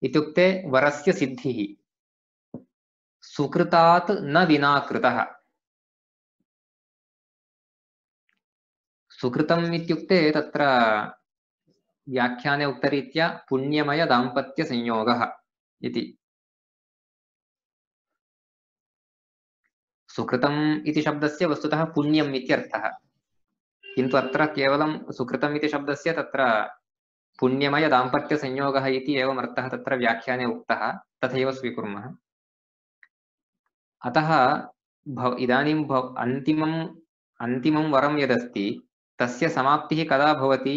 इत्युक्ते वरस्य सिद्धिः। सुकृतात् न विना कृतः, सुकृतम् इत्युक्ते तत्र व्याख्याने उक्तरीत्या पुण्यमय दाम्पत्य संयोगः इति। सुकृतम् इति शब्दस्य वस्तुतः पुण्यम् इत्यर्थः, किन्तु अत्र केवलं सुकृतम् इति शब्दस्य तत्र पुण्यमय दाम्पत्य संयोगः इति एवम् अर्थः तत्र व्याख्याने उक्तः, तथैव स्वीकुर्मः। अतः इदानीं अन्तिमं वरं यदस्ति तस्य समाप्तिः कदा भवति?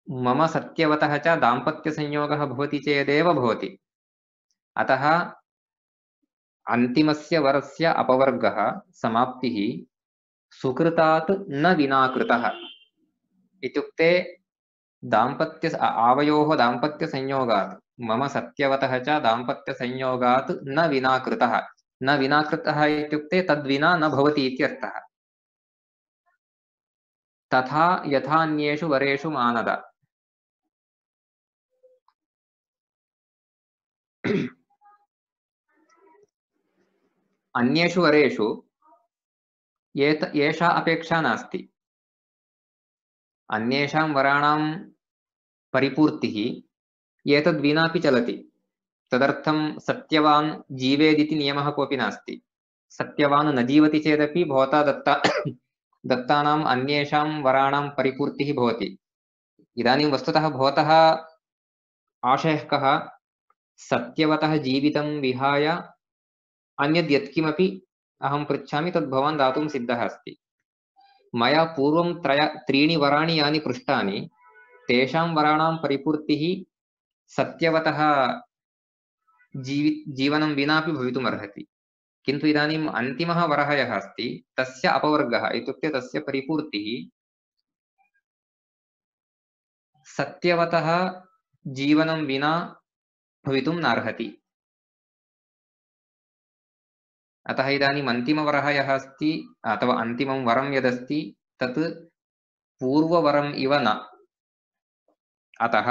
मम सत्यवतः च दाम्पत्यसंयोगः भवति चेदेव भवति। अतः अन्तिमस्य वरस्य अपवर्गः समाप्तिः सुकृतात् न विना कृतः इत्युक्ते आवयोः दाम्पत्यसंयोगात्, मम सत्यवतः च दाम्पत्यसंयोगात् न विना कृतः। न विना कृतः इत्युक्ते तद्विना न भवति इत्यर्थः। तथा यथान्येषु वरेषु मानद, अन्येषु वरेषु एषा अपेक्षा नास्ति। अन्येषां वराणां परिपूर्तिः एतद्विनापि चलति। तदर्थं सत्यवान् जीवेदिति नियमः कोऽपि नास्ति। सत्यवान् न जीवति चेदपि भवता दत्तानाम् अन्येषां वराणां परिपूर्तिः भवति। इदानीं वस्तुतः भवतः आशयः कः? सत्यवतः जीवितं विहाय अन्यद् यत्किमपि अहं पृच्छामि तद् भवान् दातुं सिद्धः अस्ति। मया पूर्वं त्रीणि वराणि यानि पृष्टानि तेषां वराणां परिपूर्तिः सत्यवतः जीवनं विनापि भवितुमर्हति। किन्तु इदानीम् अन्तिमः वरः यः अस्ति तस्य अपवर्गः इत्युक्ते तस्य परिपूर्तिः सत्यवतः जीवनं विना भवितुं नार्हति। अतः इदानीम् अन्तिमवरः यः अस्ति अथवा अन्तिमं वरं यदस्ति तत् पूर्ववरम् इव न। अतः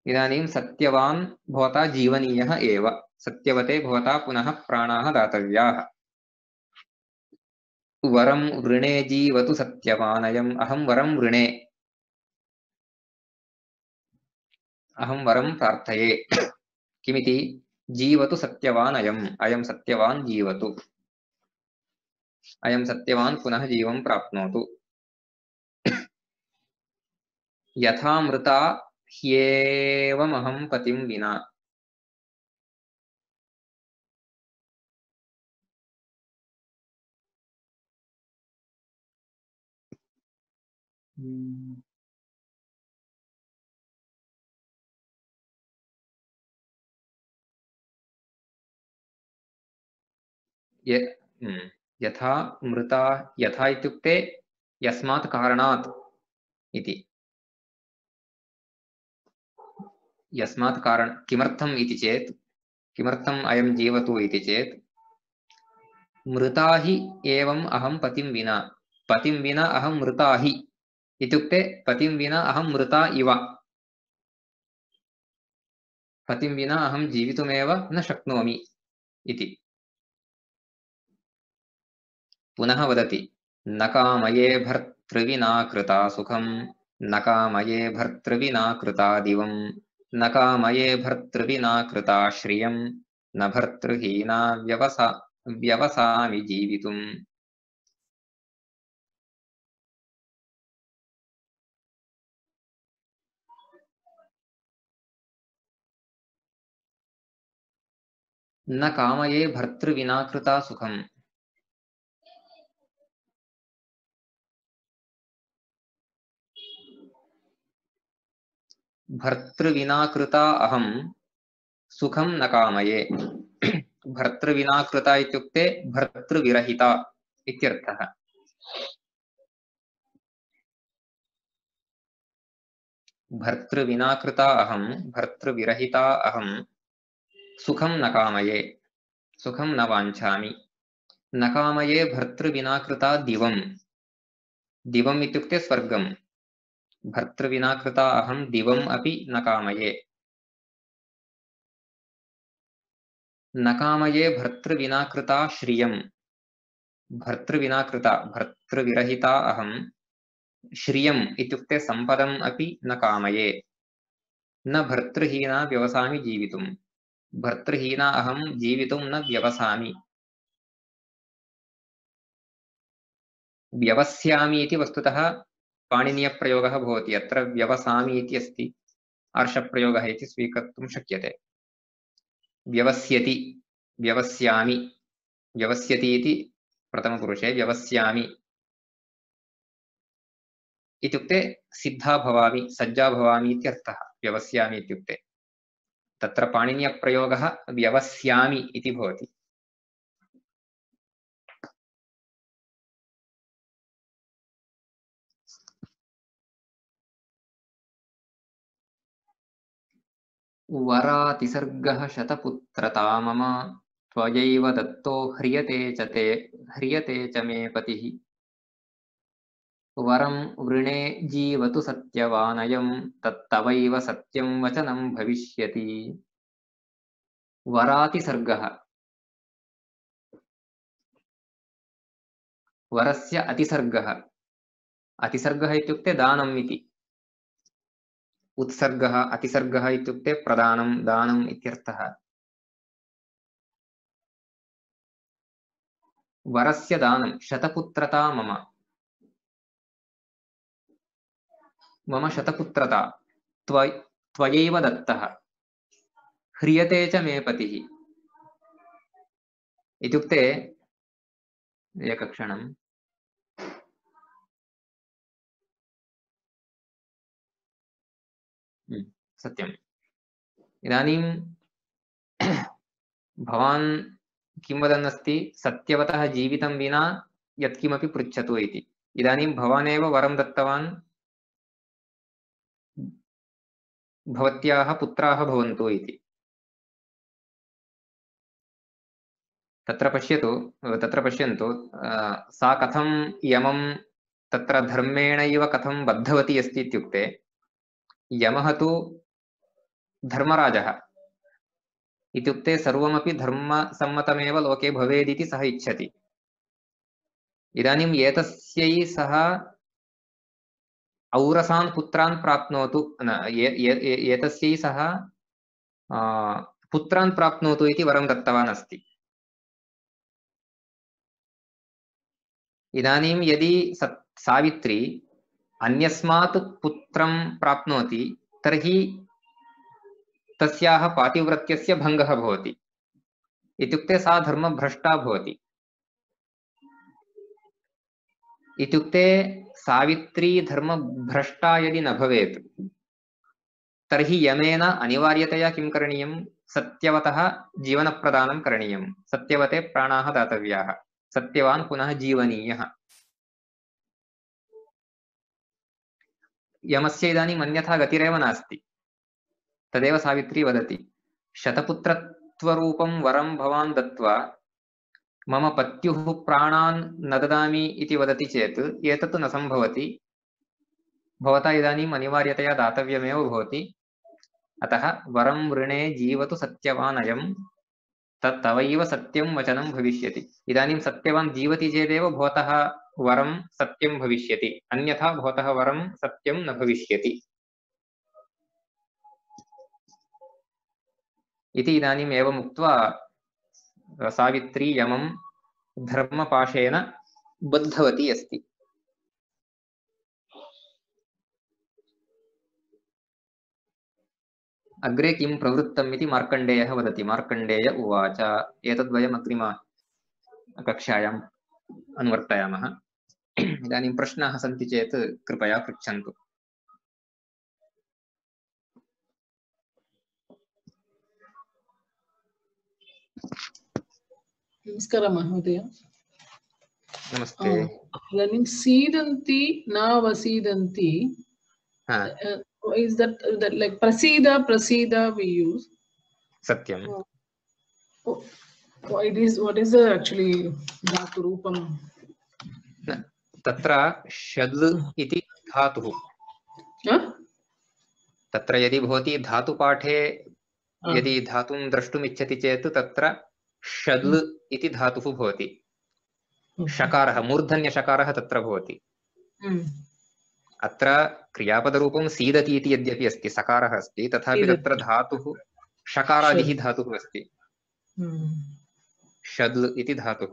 इदानीं सत्यवान् भवता जीवनीयः एव। सत्यवते भवता पुनः प्राणाः दातव्याः। वरं वृणे जीवतु सत्यवानयम्। अहं वरं वृणे, अहं वरं प्रार्थये। किमिति? जीवतु सत्यवानयम्, अयं सत्यवान् जीवतु, अयं सत्यवान् पुनः जीवं प्राप्नोतु। यथा मृता ह्येवमहं पतिं विना। यथा मृता, यथा इत्युक्ते यस्मात् कारणात् इति। यस्मात् कारण किमर्थम् इति चेत्, किमर्थम् अयं जीवतु इति चेत्, मृता हि एवम् अहं पतिं विना, पतिं विना अहं मृता हि इत्युक्ते पतिं विना अहं मृता इव, पतिं विना अहं जीवितुमेव न शक्नोमि इति। पुनः वदति, न कामये भर्तृविना कृता सुखं, न कामये भर्तृविना कृता दिवं, न कामये भर्तृविना कृता श्रियं, न भर्तृहीना व्यवसामि जीवितुम्। न कामये भर्तृविना कृता सुखम्। भर्तृविना कृता अहं सुखं न कामये। भर्तृविना कृता इत्युक्ते भर्तृविरहिता इत्यर्थः। भर्तृविना कृता अहं, भर्तृविरहिता अहं सुखं न कामये, सुखं न वाञ्छामि। न कामये भर्तृविना कृता दिवं, दिवम् इत्युक्ते स्वर्गम्। भर्तृविना कृता अहं दिवम् अपि न कामये। न कामये भर्तृविना कृता श्रियम्, भर्तृविना कृता, भर्तृविरहिता अहं श्रियम् इत्युक्ते सम्पदम् अपि न कामये। न भर्तृहीना व्यवसामि जीवितुम्, भर्तृहीना अहं जीवितुं न व्यवसामि। व्यवस्यामि इति वस्तुतः पाणिनीयप्रयोगः भवति। अत्र व्यवसामि इति अस्ति, आर्षप्रयोगः इति स्वीकर्तुं शक्यते। व्यवस्यति, व्यवस्यामि, व्यवस्यति इति प्रथमपुरुषे, व्यवस्यामि इत्युक्ते सिद्धा भवामि, सज्जा भवामि इत्यर्थः। व्यवस्यामि इत्युक्ते तत्र पाणिनीयप्रयोगः व्यवस्यामि इति भवति। वरातिसर्गः शतपुत्रता मम, त्वयैव दत्तो ह्रियते च मे पतिः। वरं वृणे जीवतु सत्यवानयं, तत्तवैव सत्यं वचनं भविष्यति। वरातिसर्गः, वरस्य अतिसर्गः। अतिसर्गः इत्युक्ते दानम् इति। उत्सर्गः, अतिसर्गः इत्युक्ते प्रदानं, दानम् इत्यर्थः। वरस्य दानं, शतपुत्रता मम, मम शतपुत्रता त्वयैव दत्तः, ह्रियते च मे पतिः इत्युक्ते, एकक्षणं, सत्यम्। इदानीं भवान् किं वदन् अस्ति सत्यवतः जीवितं विना यत्किमपि पृच्छतु इति इदानीं भवानेव वरं दत्तवान् भवत्याः पुत्राः भवन्तु इति तत्र पश्यन्तु सा कथं यमं तत्र धर्मेण इव कथं बद्धवती अस्ति इत्युक्ते यमः तु धर्मराजः इत्युक्ते सर्वमपि धर्मसम्मतमेव लोके भवेदिति सः इच्छति इदानीं एतस्यै सः औरसान् पुत्रान् प्राप्नोतु एतस्यै सः पुत्रान् प्राप्नोतु इति वरं दत्तवान् अस्ति इदानीं यदि सावित्री अन्यस्मात् पुत्रं प्राप्नोति तर्हि तस्याः पातिव्रत्यस्य भङ्गः भवति इत्युक्ते सा धर्मभ्रष्टा भवति इत्युक्ते सावित्री धर्मभ्रष्टा यदि न भवेत् तर्हि यमेन अनिवार्यतया किं करणीयं सत्यवतः जीवनप्रदानं करणीयं सत्यवते प्राणाः दातव्याः सत्यवान् पुनः जीवनीयः यमस्य इदानीम् अन्यथा गतिरेव नास्ति तदेव सावित्री वदति शतपुत्रत्वरूपं वरं भवान् दत्त्वा मम पत्युः प्राणान् न ददामि इति वदति चेत् एतत् न सम्भवति भवता इदानीम् अनिवार्यतया दातव्यमेव भवति अतः वरं वृणे जीवतु सत्यवान् अयं तत्तवैव सत्यं वचनं भविष्यति इदानीं सत्यवान् जीवति चेदेव भवतः वरं सत्यं भविष्यति अन्यथा भवतः वरं सत्यं न भविष्यति इति इदानीम् एवम् उक्त्वा सावित्री यमं धर्मपाशेन बद्धवती अस्ति अग्रे किं प्रवृत्तम् इति मार्कण्डेयः वदति मार्कण्डेय उवाच एतद्वयम् अग्रिम कक्षायाम् अनुवर्तयामः इदानीं प्रश्नाः सन्ति चेत् कृपया पृच्छन्तु नमस्कारः महोदय नमस्ते इदानीं सीदन्ति न वसीदन्ति is that like prasida we use सत्यं what is the actually dhatu roopam तत्र शद् इति धातुः तत्र यदि भवती धातुपाठे यदि धातुं द्रष्टुम् इच्छति चेत् तत्र शद् इति धातुः भवति शकारः मूर्धन्यशकारः तत्र भवति अत्र क्रियापदरूपं सीदति इति यद्यपि अस्ति सकारः अस्ति तथापि तत्र धातुः शकारादिः धातुः अस्ति शद् इति धातुः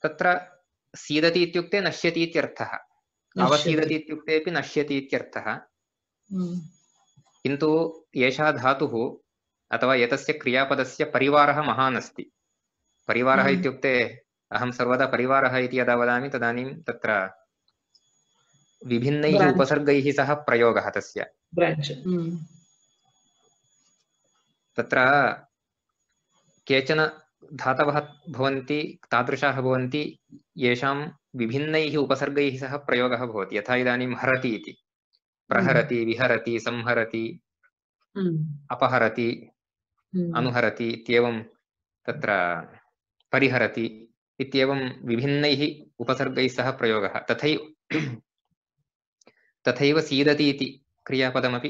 तत्र सीदति इत्युक्ते नश्यति इत्यर्थः अवसीदति इत्युक्ते अपि नश्यति इत्यर्थः किन्तु एषः धातुः अथवा एतस्य क्रियापदस्य परिवारः महान् अस्ति परिवारः इत्युक्ते अहं सर्वदा परिवारः इति यदा वदामि तदानीं तत्र विभिन्नैः उपसर्गैः सह प्रयोगः तस्य तत्र केचन धातवः भवन्ति तादृशाः भवन्ति येषां विभिन्नैः उपसर्गैः सह प्रयोगः भवति यथा इदानीं हरति इति प्रहरति विहरति संहरति अपहरति अनुहरति इत्येवं तत्र परिहरति इत्येवं विभिन्नैः उपसर्गैः सह प्रयोगः तथैव सीदति इति क्रियापदमपि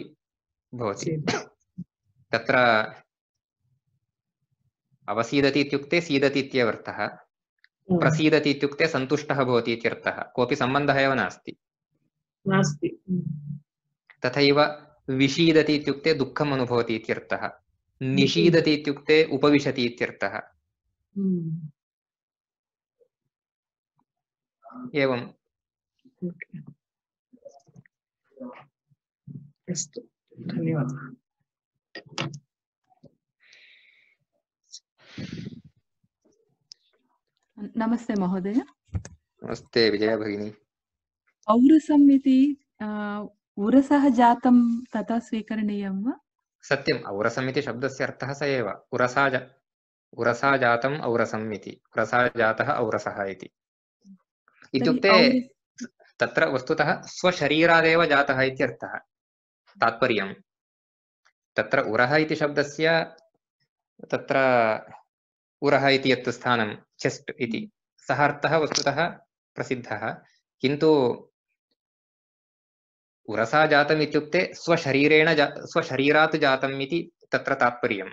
भवति तत्र अवसीदति इत्युक्ते सीदति इत्यर्थः प्रसीदति इत्युक्ते सन्तुष्टः भवति इत्यर्थः कोऽपि सम्बन्धः एव नास्ति तथैव विषीदति इत्युक्ते दुःखम् अनुभवति इत्यर्थः निषीदति इत्युक्ते उपविशति इत्यर्थः एवं अस्तु धन्यवादः नमस्ते महोदय नमस्ते विजया भगिनी औरसम् इति उरसः जातं तथा स्वीकरणीयं वा सत्यम् औरसम् इति शब्दस्य अर्थः स एव उरसा जातम् औरसम् इति उरसा जातः औरसः इति इत्युक्ते तत्र वस्तुतः स्वशरीरादेव जातः इत्यर्थः तात्पर्यं तत्र उरः इति शब्दस्य तत्र उरः इति यत् स्थानं चेस्ट् इति सः अर्थः वस्तुतः प्रसिद्धः किन्तु उरसा जातम् इत्युक्ते स्वशरीरात् जातम् इति तत्र तात्पर्यम्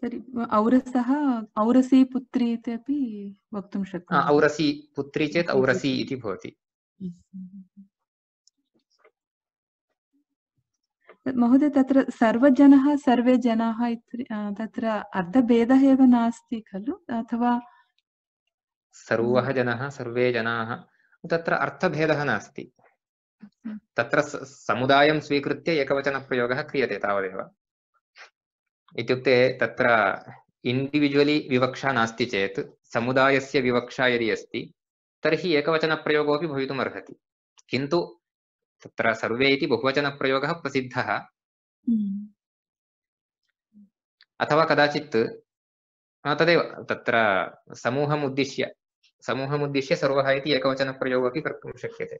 तर्हि औरसः औरसी पुत्री इत्यपि वक्तुं शक्नुमः औरसी पुत्री चेत् औरसी इति भवति महोदय तत्र सर्वजनः सर्वे जनाः तत्र अर्थभेदः एव नास्ति खलु अथवा सर्वः जनः सर्वे जनाः तत्र अर्थभेदः नास्ति तत्र समुदायं स्वीकृत्य एकवचनप्रयोगः क्रियते तावदेव इत्युक्ते तत्र इण्डिविजुवली विवक्षा नास्ति चेत् समुदायस्य विवक्षा यदि अस्ति तर्हि एकवचनप्रयोगोऽपि भवितुम् अर्हति किन्तु तत्र सर्वे इति बहुवचनप्रयोगः प्रसिद्धः अथवा कदाचित् तदेव तत्र समूहमुद्दिश्य सर्वः इति एकवचनप्रयोगः अपि कर्तुं शक्यते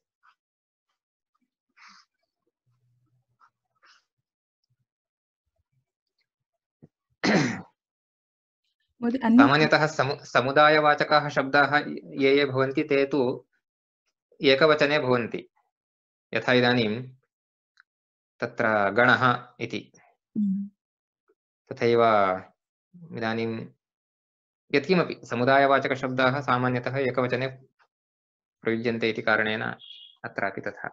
सामान्यतः समुदायवाचकाः शब्दाः ये भवन्ति ते तु एकवचने भवन्ति यथा इदानीं तत्र गणः इति तथैव इदानीं यत्किमपि समुदायवाचकशब्दाः सामान्यतः एकवचने प्रयुज्यन्ते इति कारणेन अत्रापि तथा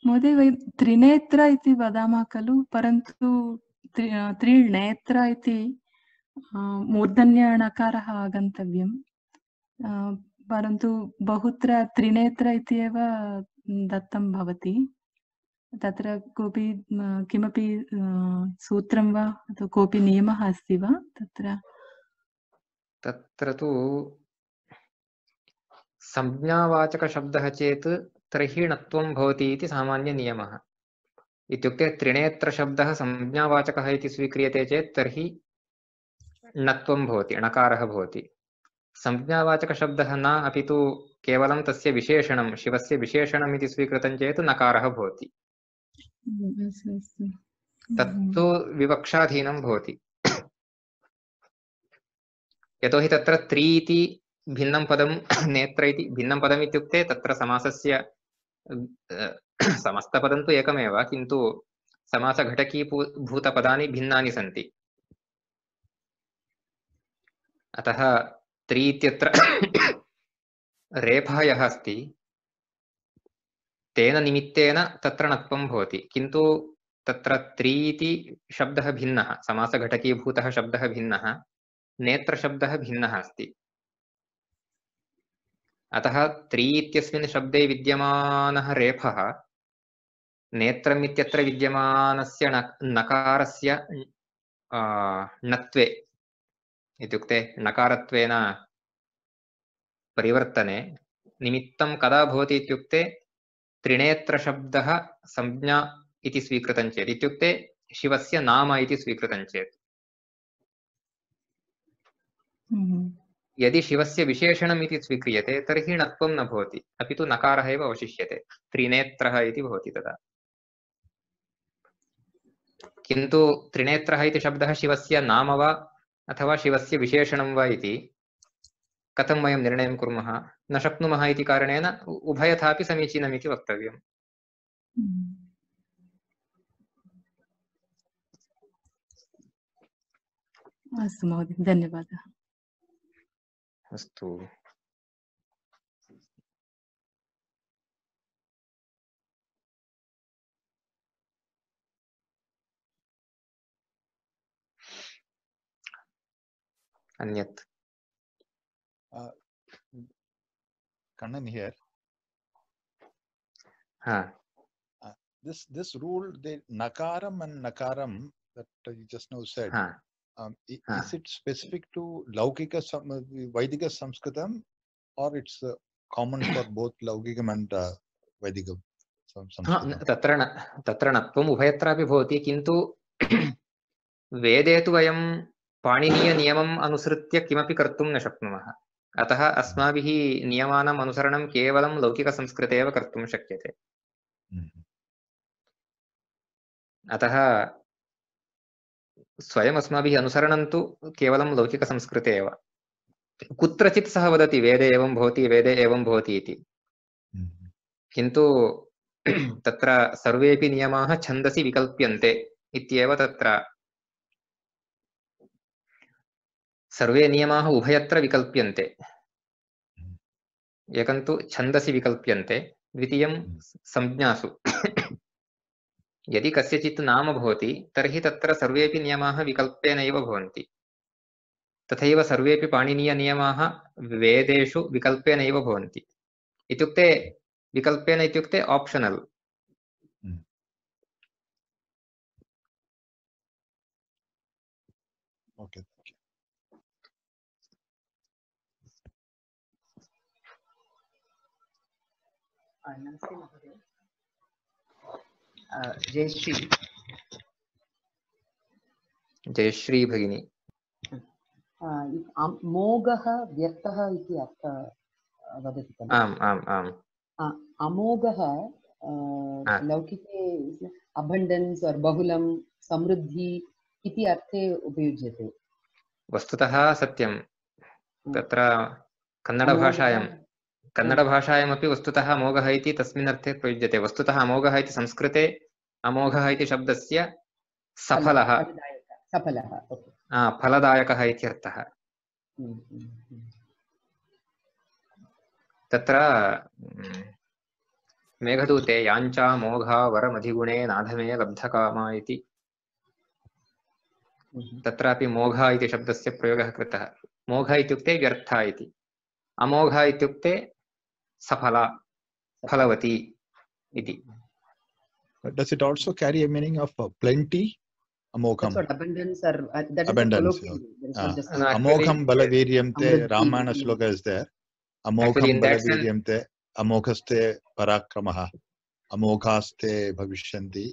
महोदय वयं त्रिनेत्र इति वदामः खलु परन्तु त्रिनेत्र इति मूर्धन्यणकारः आगन्तव्यं परन्तु बहुत्र त्रिनेत्र इति एव दत्तं भवति तत्र कोऽपि किमपि सूत्रं वा अथवा कोऽपि नियमः अस्ति वा तत्र तु संज्ञावाचकशब्दः चेत् तर्हि णत्वं भवति इति सामान्यनियमः इत्युक्ते त्रिनेत्रशब्दः संज्ञावाचकः इति स्वीक्रियते चेत् तर्हि णत्वं भवति णकारः भवति संज्ञावाचकशब्दः न अपि तु केवलं तस्य विशेषणं शिवस्य विशेषणम् इति स्वीकृतं चेत् नकारः भवति तत्तु विवक्षाधीनं भवति यतोहि तत्र त्रि इति भिन्नं पदं नेत्र इति भिन्नं पदम् इत्युक्ते तत्र समासस्य समस्तपदं तु एकमेव किन्तु समासघटकीभूतपदानि भिन्नानि सन्ति अतः त्रि इत्यत्र रेफः यः अस्ति तेन निमित्तेन तत्र णत्वं भवति किन्तु तत्र त्रि इति शब्दः भिन्नः समासघटकीभूतः शब्दः भिन्नः नेत्रशब्दः भिन्नः अस्ति अतः त्रि इत्यस्मिन् शब्दे विद्यमानः रेफः नेत्रम् इत्यत्र विद्यमानस्य नकारस्य णत्वे इत्युक्ते नकारत्वेन परिवर्तने निमित्तं कदा भवति इत्युक्ते त्रिनेत्रशब्दः संज्ञा इति स्वीकृतं चेत् इत्युक्ते शिवस्य नाम इति स्वीकृतं चेत् यदि शिवस्य विशेषणम् इति स्वीक्रियते तर्हि णत्वं न भवति अपि तु नकारः एव अवशिष्यते त्रिनेत्रः इति भवति तदा किन्तु त्रिनेत्रः इति शब्दः शिवस्य नाम वा अथवा शिवस्य विशेषणं वा इति कथं वयं निर्णयं कुर्मः न शक्नुमः इति कारणेन उभयथापि समीचीनम् इति वक्तव्यम् अस्तु महोदय धन्यवादः अस्तु अन्यत् Kannan here. This rule, the nakaram and nakaram that you just now said, is it specific to Laukika Vaidika Samskritam or it's common for both Laukikam and Vaidikam? तत्र नत्वम् उभयत्रापि भवति, किन्तु वेदे तु वयं पाणिनीयनियमम् अनुसृत्य किमपि कर्तुं न शक्नुमः। अतः अस्माभिः नियमानाम् अनुसरणं केवलं लौकिकसंस्कृते एव कर्तुं शक्यते। अतः स्वयम् अस्माभिः अनुसरणं तु केवलं लौकिकसंस्कृते एव। कुत्रचित् सः वदति वेदे एवं भवति, वेदे एवं भवति इति, किन्तु तत्र सर्वेपि नियमाः छन्दसि विकल्प्यन्ते इत्येव तत्र सर्वे नियमाः उभयत्र विकल्प्यन्ते। एकं तु छन्दसि विकल्प्यन्ते, द्वितीयं संज्ञासु। यदि कस्यचित् नाम भवति तर्हि तत्र सर्वेपि नियमाः विकल्पेनैव भवन्ति। तथैव सर्वेपि पाणिनीयनियमाः वेदेषु विकल्पेनैव भवन्ति। इत्युक्ते विकल्पेन इत्युक्ते ऑप्शनल। ओके, जयश्री। जयश्री भगिनी। मोघः व्यर्थः इति अर्थः वदति खलु? आम् आम् आम्। अमोघः लौकिके अबण्डेन्स् और बहुलं समृद्धि इति अर्थे उपयुज्यते। वस्तुतः सत्यं। तत्र कन्नडभाषायामपि वस्तुतः अमोघः इति तस्मिन् अर्थे प्रयुज्यते। वस्तुतः अमोघः इति संस्कृते अमोघः इति शब्दस्य सफलः, फलदायकः इत्यर्थः। तत्र मेघदूते याञ्चा मोघा वरमधिगुणे नाधमे लब्धकामा इति तत्रापि मोघा इति शब्दस्य प्रयोगः कृतः। मोघ इत्युक्ते व्यर्था इति, अमोघ इत्युक्ते सफला, फलवती इति। Does it also carry a meaning of plenty? Amogham. That's what abundance or that abundance. is Amogham balaviryamte, Ramayana shloka is there. Amogham balaviryamte, amoghaste parakramaha, amoghaste bhavishyanti,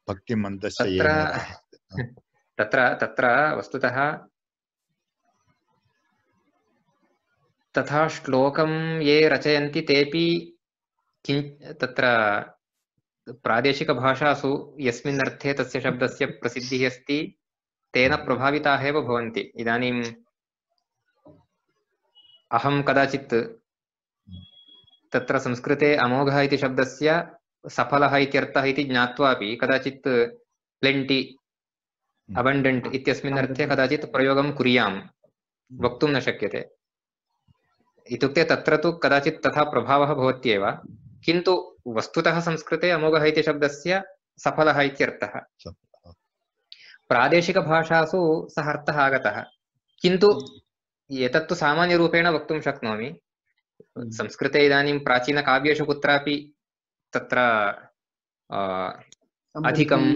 bhakti mantasya yena. तत्र वस्तुतः तथा श्लोकं ये रचयन्ति तेपि तत्र प्रादेशिकभाषासु यस्मिन् अर्थे तस्य शब्दस्य प्रसिद्धिः अस्ति तेन प्रभाविताः एव भवन्ति। इदानीम् अहं कदाचित् तत्र संस्कृते अमोघः इति शब्दस्य सफलः इत्यर्थः इति ज्ञात्वापि कदाचित् प्लेन्टी, अबण्डेण्ट् इत्यस्मिन् अर्थे कदाचित् प्रयोगं कुर्यां, वक्तुं न शक्यते। इत्युक्ते तत्र तु कदाचित् तथा प्रभावः भवत्येव, किन्तु वस्तुतः संस्कृते अमोघः इति शब्दस्य सफलः इत्यर्थः। प्रादेशिकभाषासु सः अर्थः आगतः, किन्तु एतत्तु सामान्यरूपेण वक्तुं शक्नोमि। संस्कृते इदानीं प्राचीनकाव्येषु कुत्रापि तत्र अधिकम्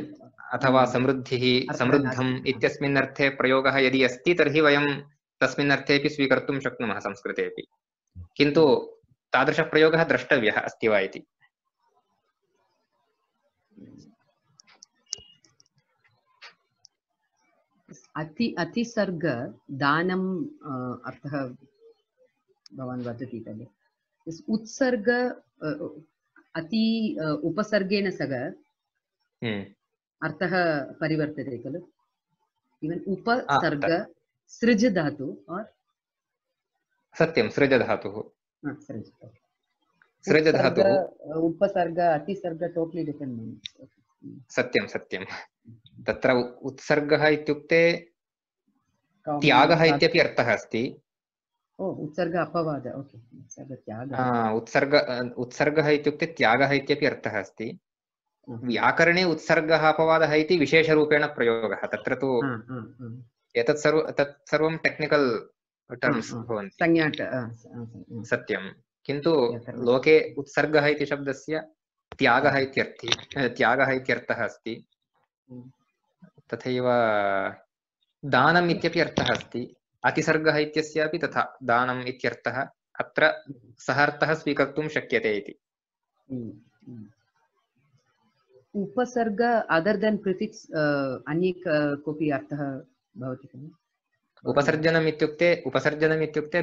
अथवा समृद्धिः, समृद्धम् इत्यस्मिन् अर्थे प्रयोगः यदि अस्ति तर्हि वयं तस्मिन् अर्थेपि स्वीकर्तुं शक्नुमः संस्कृतेपि, किन्तु तादृशप्रयोगः द्रष्टव्यः अस्ति वा इति। अतिसर्ग दानम् अर्थः भवान् वदति खलु। उत्सर्ग अति उपसर्गेण सह अर्थः परिवर्तते खलु। इवन् उपसर्ग सृज धातु और सत्यं सृज धातुः, सृज धातुः, उपसर्ग अतिसर्ग टोटली डिफरेंट मीनिंग्स। सत्यं सत्यं। तत्र उत्सर्गः इत्युक्ते त्यागः इत्यपि अर्थः अस्ति। उत्सर्ग अपवाद, ओके। उत्सर्गः इत्युक्ते त्यागः इत्यपि अर्थः अस्ति। व्याकरणे उत्सर्गः अपवादः इति विशेषरूपेण प्रयोगः। तत्र तु एतत् सर्वं टेक्निकल् टर्म्स् भवन्ति। सत्यं, किन्तु लोके उत्सर्गः इति शब्दस्य त्यागः इत्यर्थः अस्ति। तथैव दानम् इत्यपि अर्थः अस्ति। अतिसर्गः इत्यस्यापि तथा दानम् इत्यर्थः, अत्र सः अर्थः स्वीकर्तुं शक्यते इति। उपसर्ग अदर् देन् प्रिफिक्स् अन्य कोऽपि अर्थः भवति खलु? उपसर्जनम् इत्युक्ते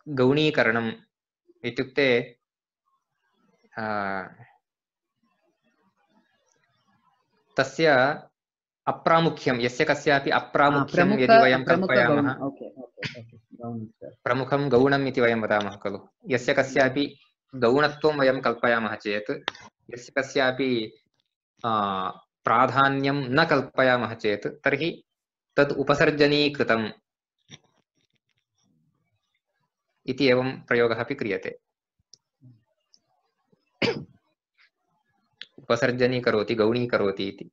गौणीकरणम् इत्युक्ते तस्य अप्रामुख्यं यस्य कस्यापि अप्रामुख्यं यदि वयं कल्पयामः प्रमुखं गौणम् इति वयं वदामः खलु। यस्य कस्यापि गौणत्वं वयं कल्पयामः चेत् यस्य कस्यापि प्राधान्यं न कल्पयामः चेत् तर्हि तद् उपसर्जनीकृतम् इति एवं प्रयोगः अपि क्रियते। उपसर्जनीकरोति गौणीकरोति इति।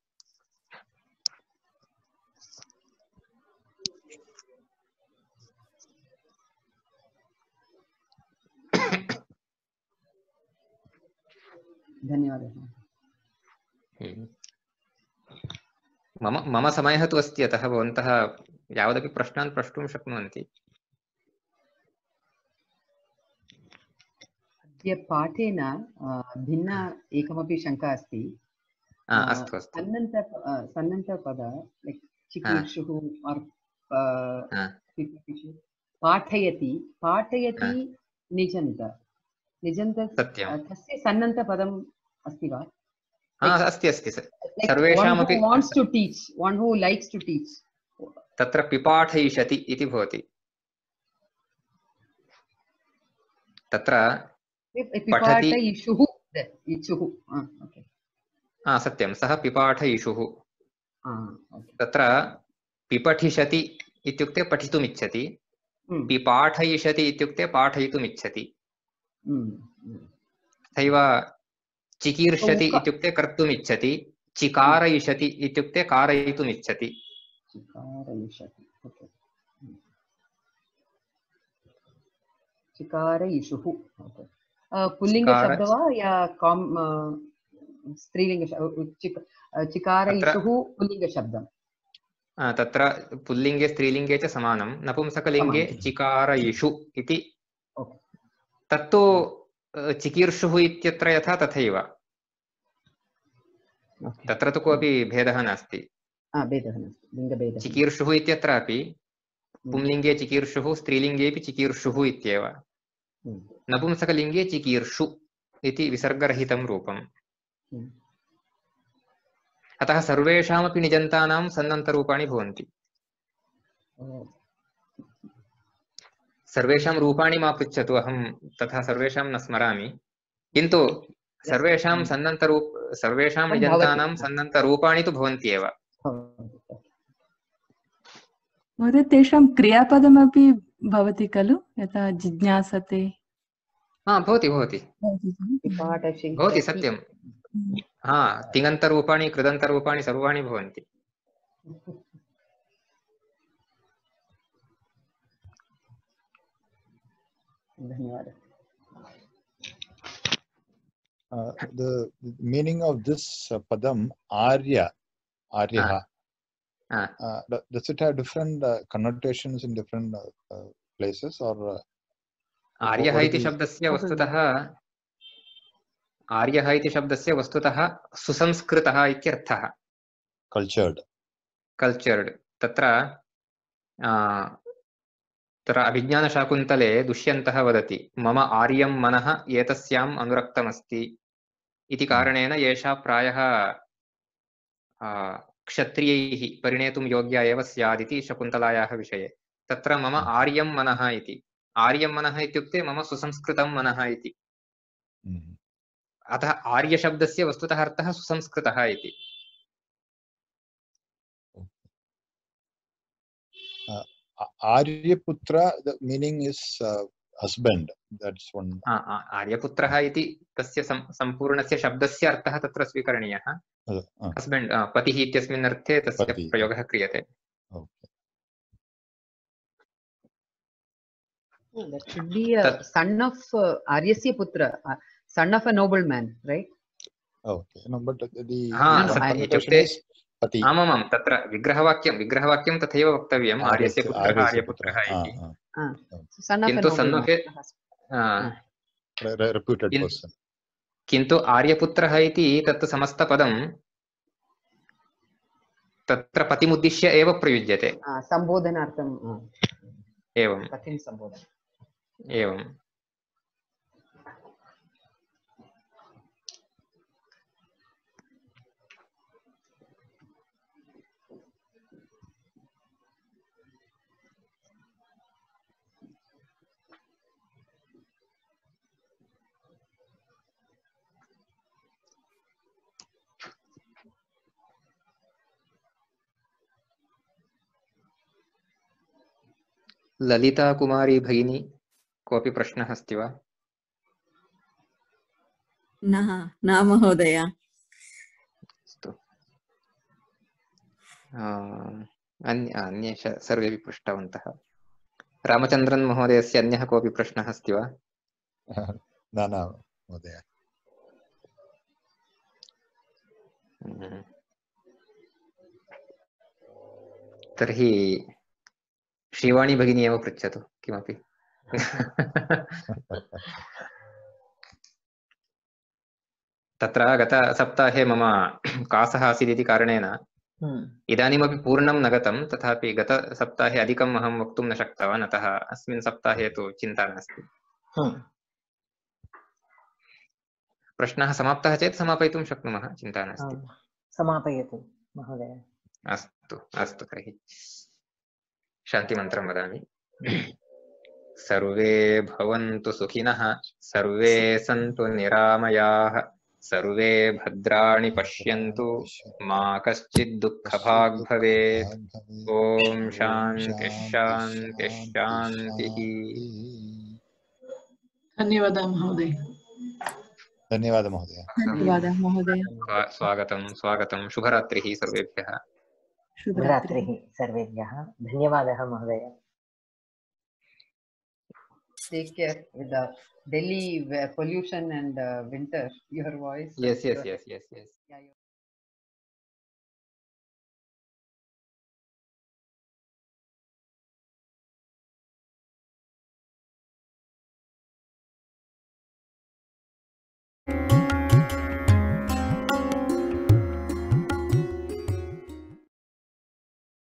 धन्यवादः। मम समयः तु अस्ति, अतः भवन्तः यावदपि प्रश्नान् प्रष्टुं शक्नुवन्ति। अद्य पाठेन भिन्ना एकमपि शङ्का अस्ति। अस्तु अस्तु। सन्नन्तपद लैक् चिकीर्षुः पाठयति निजन्त तस्य सन्नन्तपदम् अस्ति वा? अस्ति अस्ति सर्वेषामपि wants to teach, one who likes to teach. तत्र पिपाठयिष्यति इति भवति। तत्र पिपाठयिषुः सत्यं सः पिपाठयिषुः। तत्र पिपठिष्यति इत्युक्ते पठितुमिच्छति, पिपाठयिष्यति इत्युक्ते पाठयितुमिच्छति। तथैव चिकीर्षति इत्युक्ते कर्तुमिच्छति, चिकारयिष्यति इत्युक्ते कारयितुमिच्छति। चिकारयिषुः पुल्लिङ्गशब्दः वा या स्त्रीलिङ्ग? चिकारयिषुः पुल्लिङ्गशब्दं। तत्र पुल्लिङ्गे स्त्रीलिङ्गे च समानं। नपुंसकलिङ्गे चिकारयिषु इति। तत्तु चिकीर्षुः इत्यत्र यथा तथैव, तत्र तु कोऽपि भेदः नास्ति। चिकीर्षुः इत्यत्रापि पुंलिङ्गे चिकीर्षुः, स्त्रीलिङ्गेऽपि चिकीर्षुः इत्येव। नपुंसकलिङ्गे चिकीर्षु इति विसर्गरहितं रूपम्। अतः सर्वेषामपि निजन्तानां सन्नन्तरूपाणि भवन्ति। सर्वेषां रूपाणि मा पृच्छतु, अहं तथा सर्वेषां न स्मरामि, किन्तु सर्वेषां सर्वेषां निजन्तानां सन्नन्तरूपाणि तु भवन्ति एव। महोदय, तेषां क्रियापदमपि भवति खलु, यथा जिज्ञासते? भवति भवति भवति, सत्यं। तिङन्तरूपाणि कृदन्तरूपाणि सर्वाणि भवन्ति। धन्यवादः। The meaning of this padam Arya, does it have different connotations in different places, or आर्यः इति शब्दस्य वस्तुतः सुसंस्कृतः इत्यर्थः। कल्चर्ड। तत्र अभिज्ञानशाकुन्तले दुष्यन्तः वदति मम आर्यं मनः एतस्याम् अनुरक्तमस्ति इति कारणेन एषा प्रायः क्षत्रियैः परिणेतुं योग्या एव स्यात् इति शकुन्तलायाः विषये। तत्र मम आर्यं मनः इति, आर्यं मनः इत्युक्ते मम सुसंस्कृतं मनः इति। अतः आर्यशब्दस्य वस्तुतः अर्थः सुसंस्कृतः इति। Aryaputra, the meaning is husband. That's one. आर्यपुत्रः इति तस्य सम्पूर्णस्य शब्दस्य अर्थः तत्र स्वीकरणीयः। हस्बेंड, पतिः इत्यस्मिन् अर्थे तस्य प्रयोगः क्रियते। That should be a son of Aryasya putra, son of a nobleman, right? Okay, no, but the आमां तत्र विग्रहवाक्यं तथैव वक्तव्यम्, आर्यस्य पुत्रः आर्यपुत्रः इति। किन्तु किन्तु आर्यपुत्रः इति तत् समस्तपदं तत्र पतिमुद्दिश्य एव प्रयुज्यते। सम्बोधनार्थम् एवं पतिं सम्बोधन एवं ललिता कुमारी भगिनी कोऽपि प्रश्नः अस्ति वा? न महोदय। अस्तु, अन्ये सर्वेपि पृष्टवन्तः। रामचन्द्रन् महोदयस्य अन्यः कोऽपि प्रश्नः अस्ति वा? न महोदय। तर्हि श्रीवाणी भगिनी एव पृच्छतु किमपि। तत्र गतसप्ताहे मम कासः आसीत् इति कारणेन इदानीमपि पूर्णं न गतं, तथापि गतसप्ताहे अधिकम् अहं वक्तुं न शक्तवान्, अतः अस्मिन् सप्ताहे तु चिन्ता नास्ति। प्रश्नः समाप्तः चेत् समापयितुं शक्नुमः, चिन्ता नास्ति। समापयतु महोदय। अस्तु अस्तु, तर्हि शान्तिमन्त्रं वदामि। सर्वे भवन्तु सुखिनः, सर्वे सन्तु निरामयाः, सर्वे भद्राणि पश्यन्तु, मा कश्चित् दुःखभाग् भवेत्। ॐ शान्तिः शान्तिः शान्तिः। धन्यवादः महोदय। धन्यवादः महोदय। धन्यवादः महोदय। स्वागतं स्वागतं। शुभरात्रिः सर्वेभ्यः। शुभरात्रिः सर्वेभ्यः। धन्यवादः महोदय। Take care with the Delhi pollution and winter. Your voice. Yes. Yeah,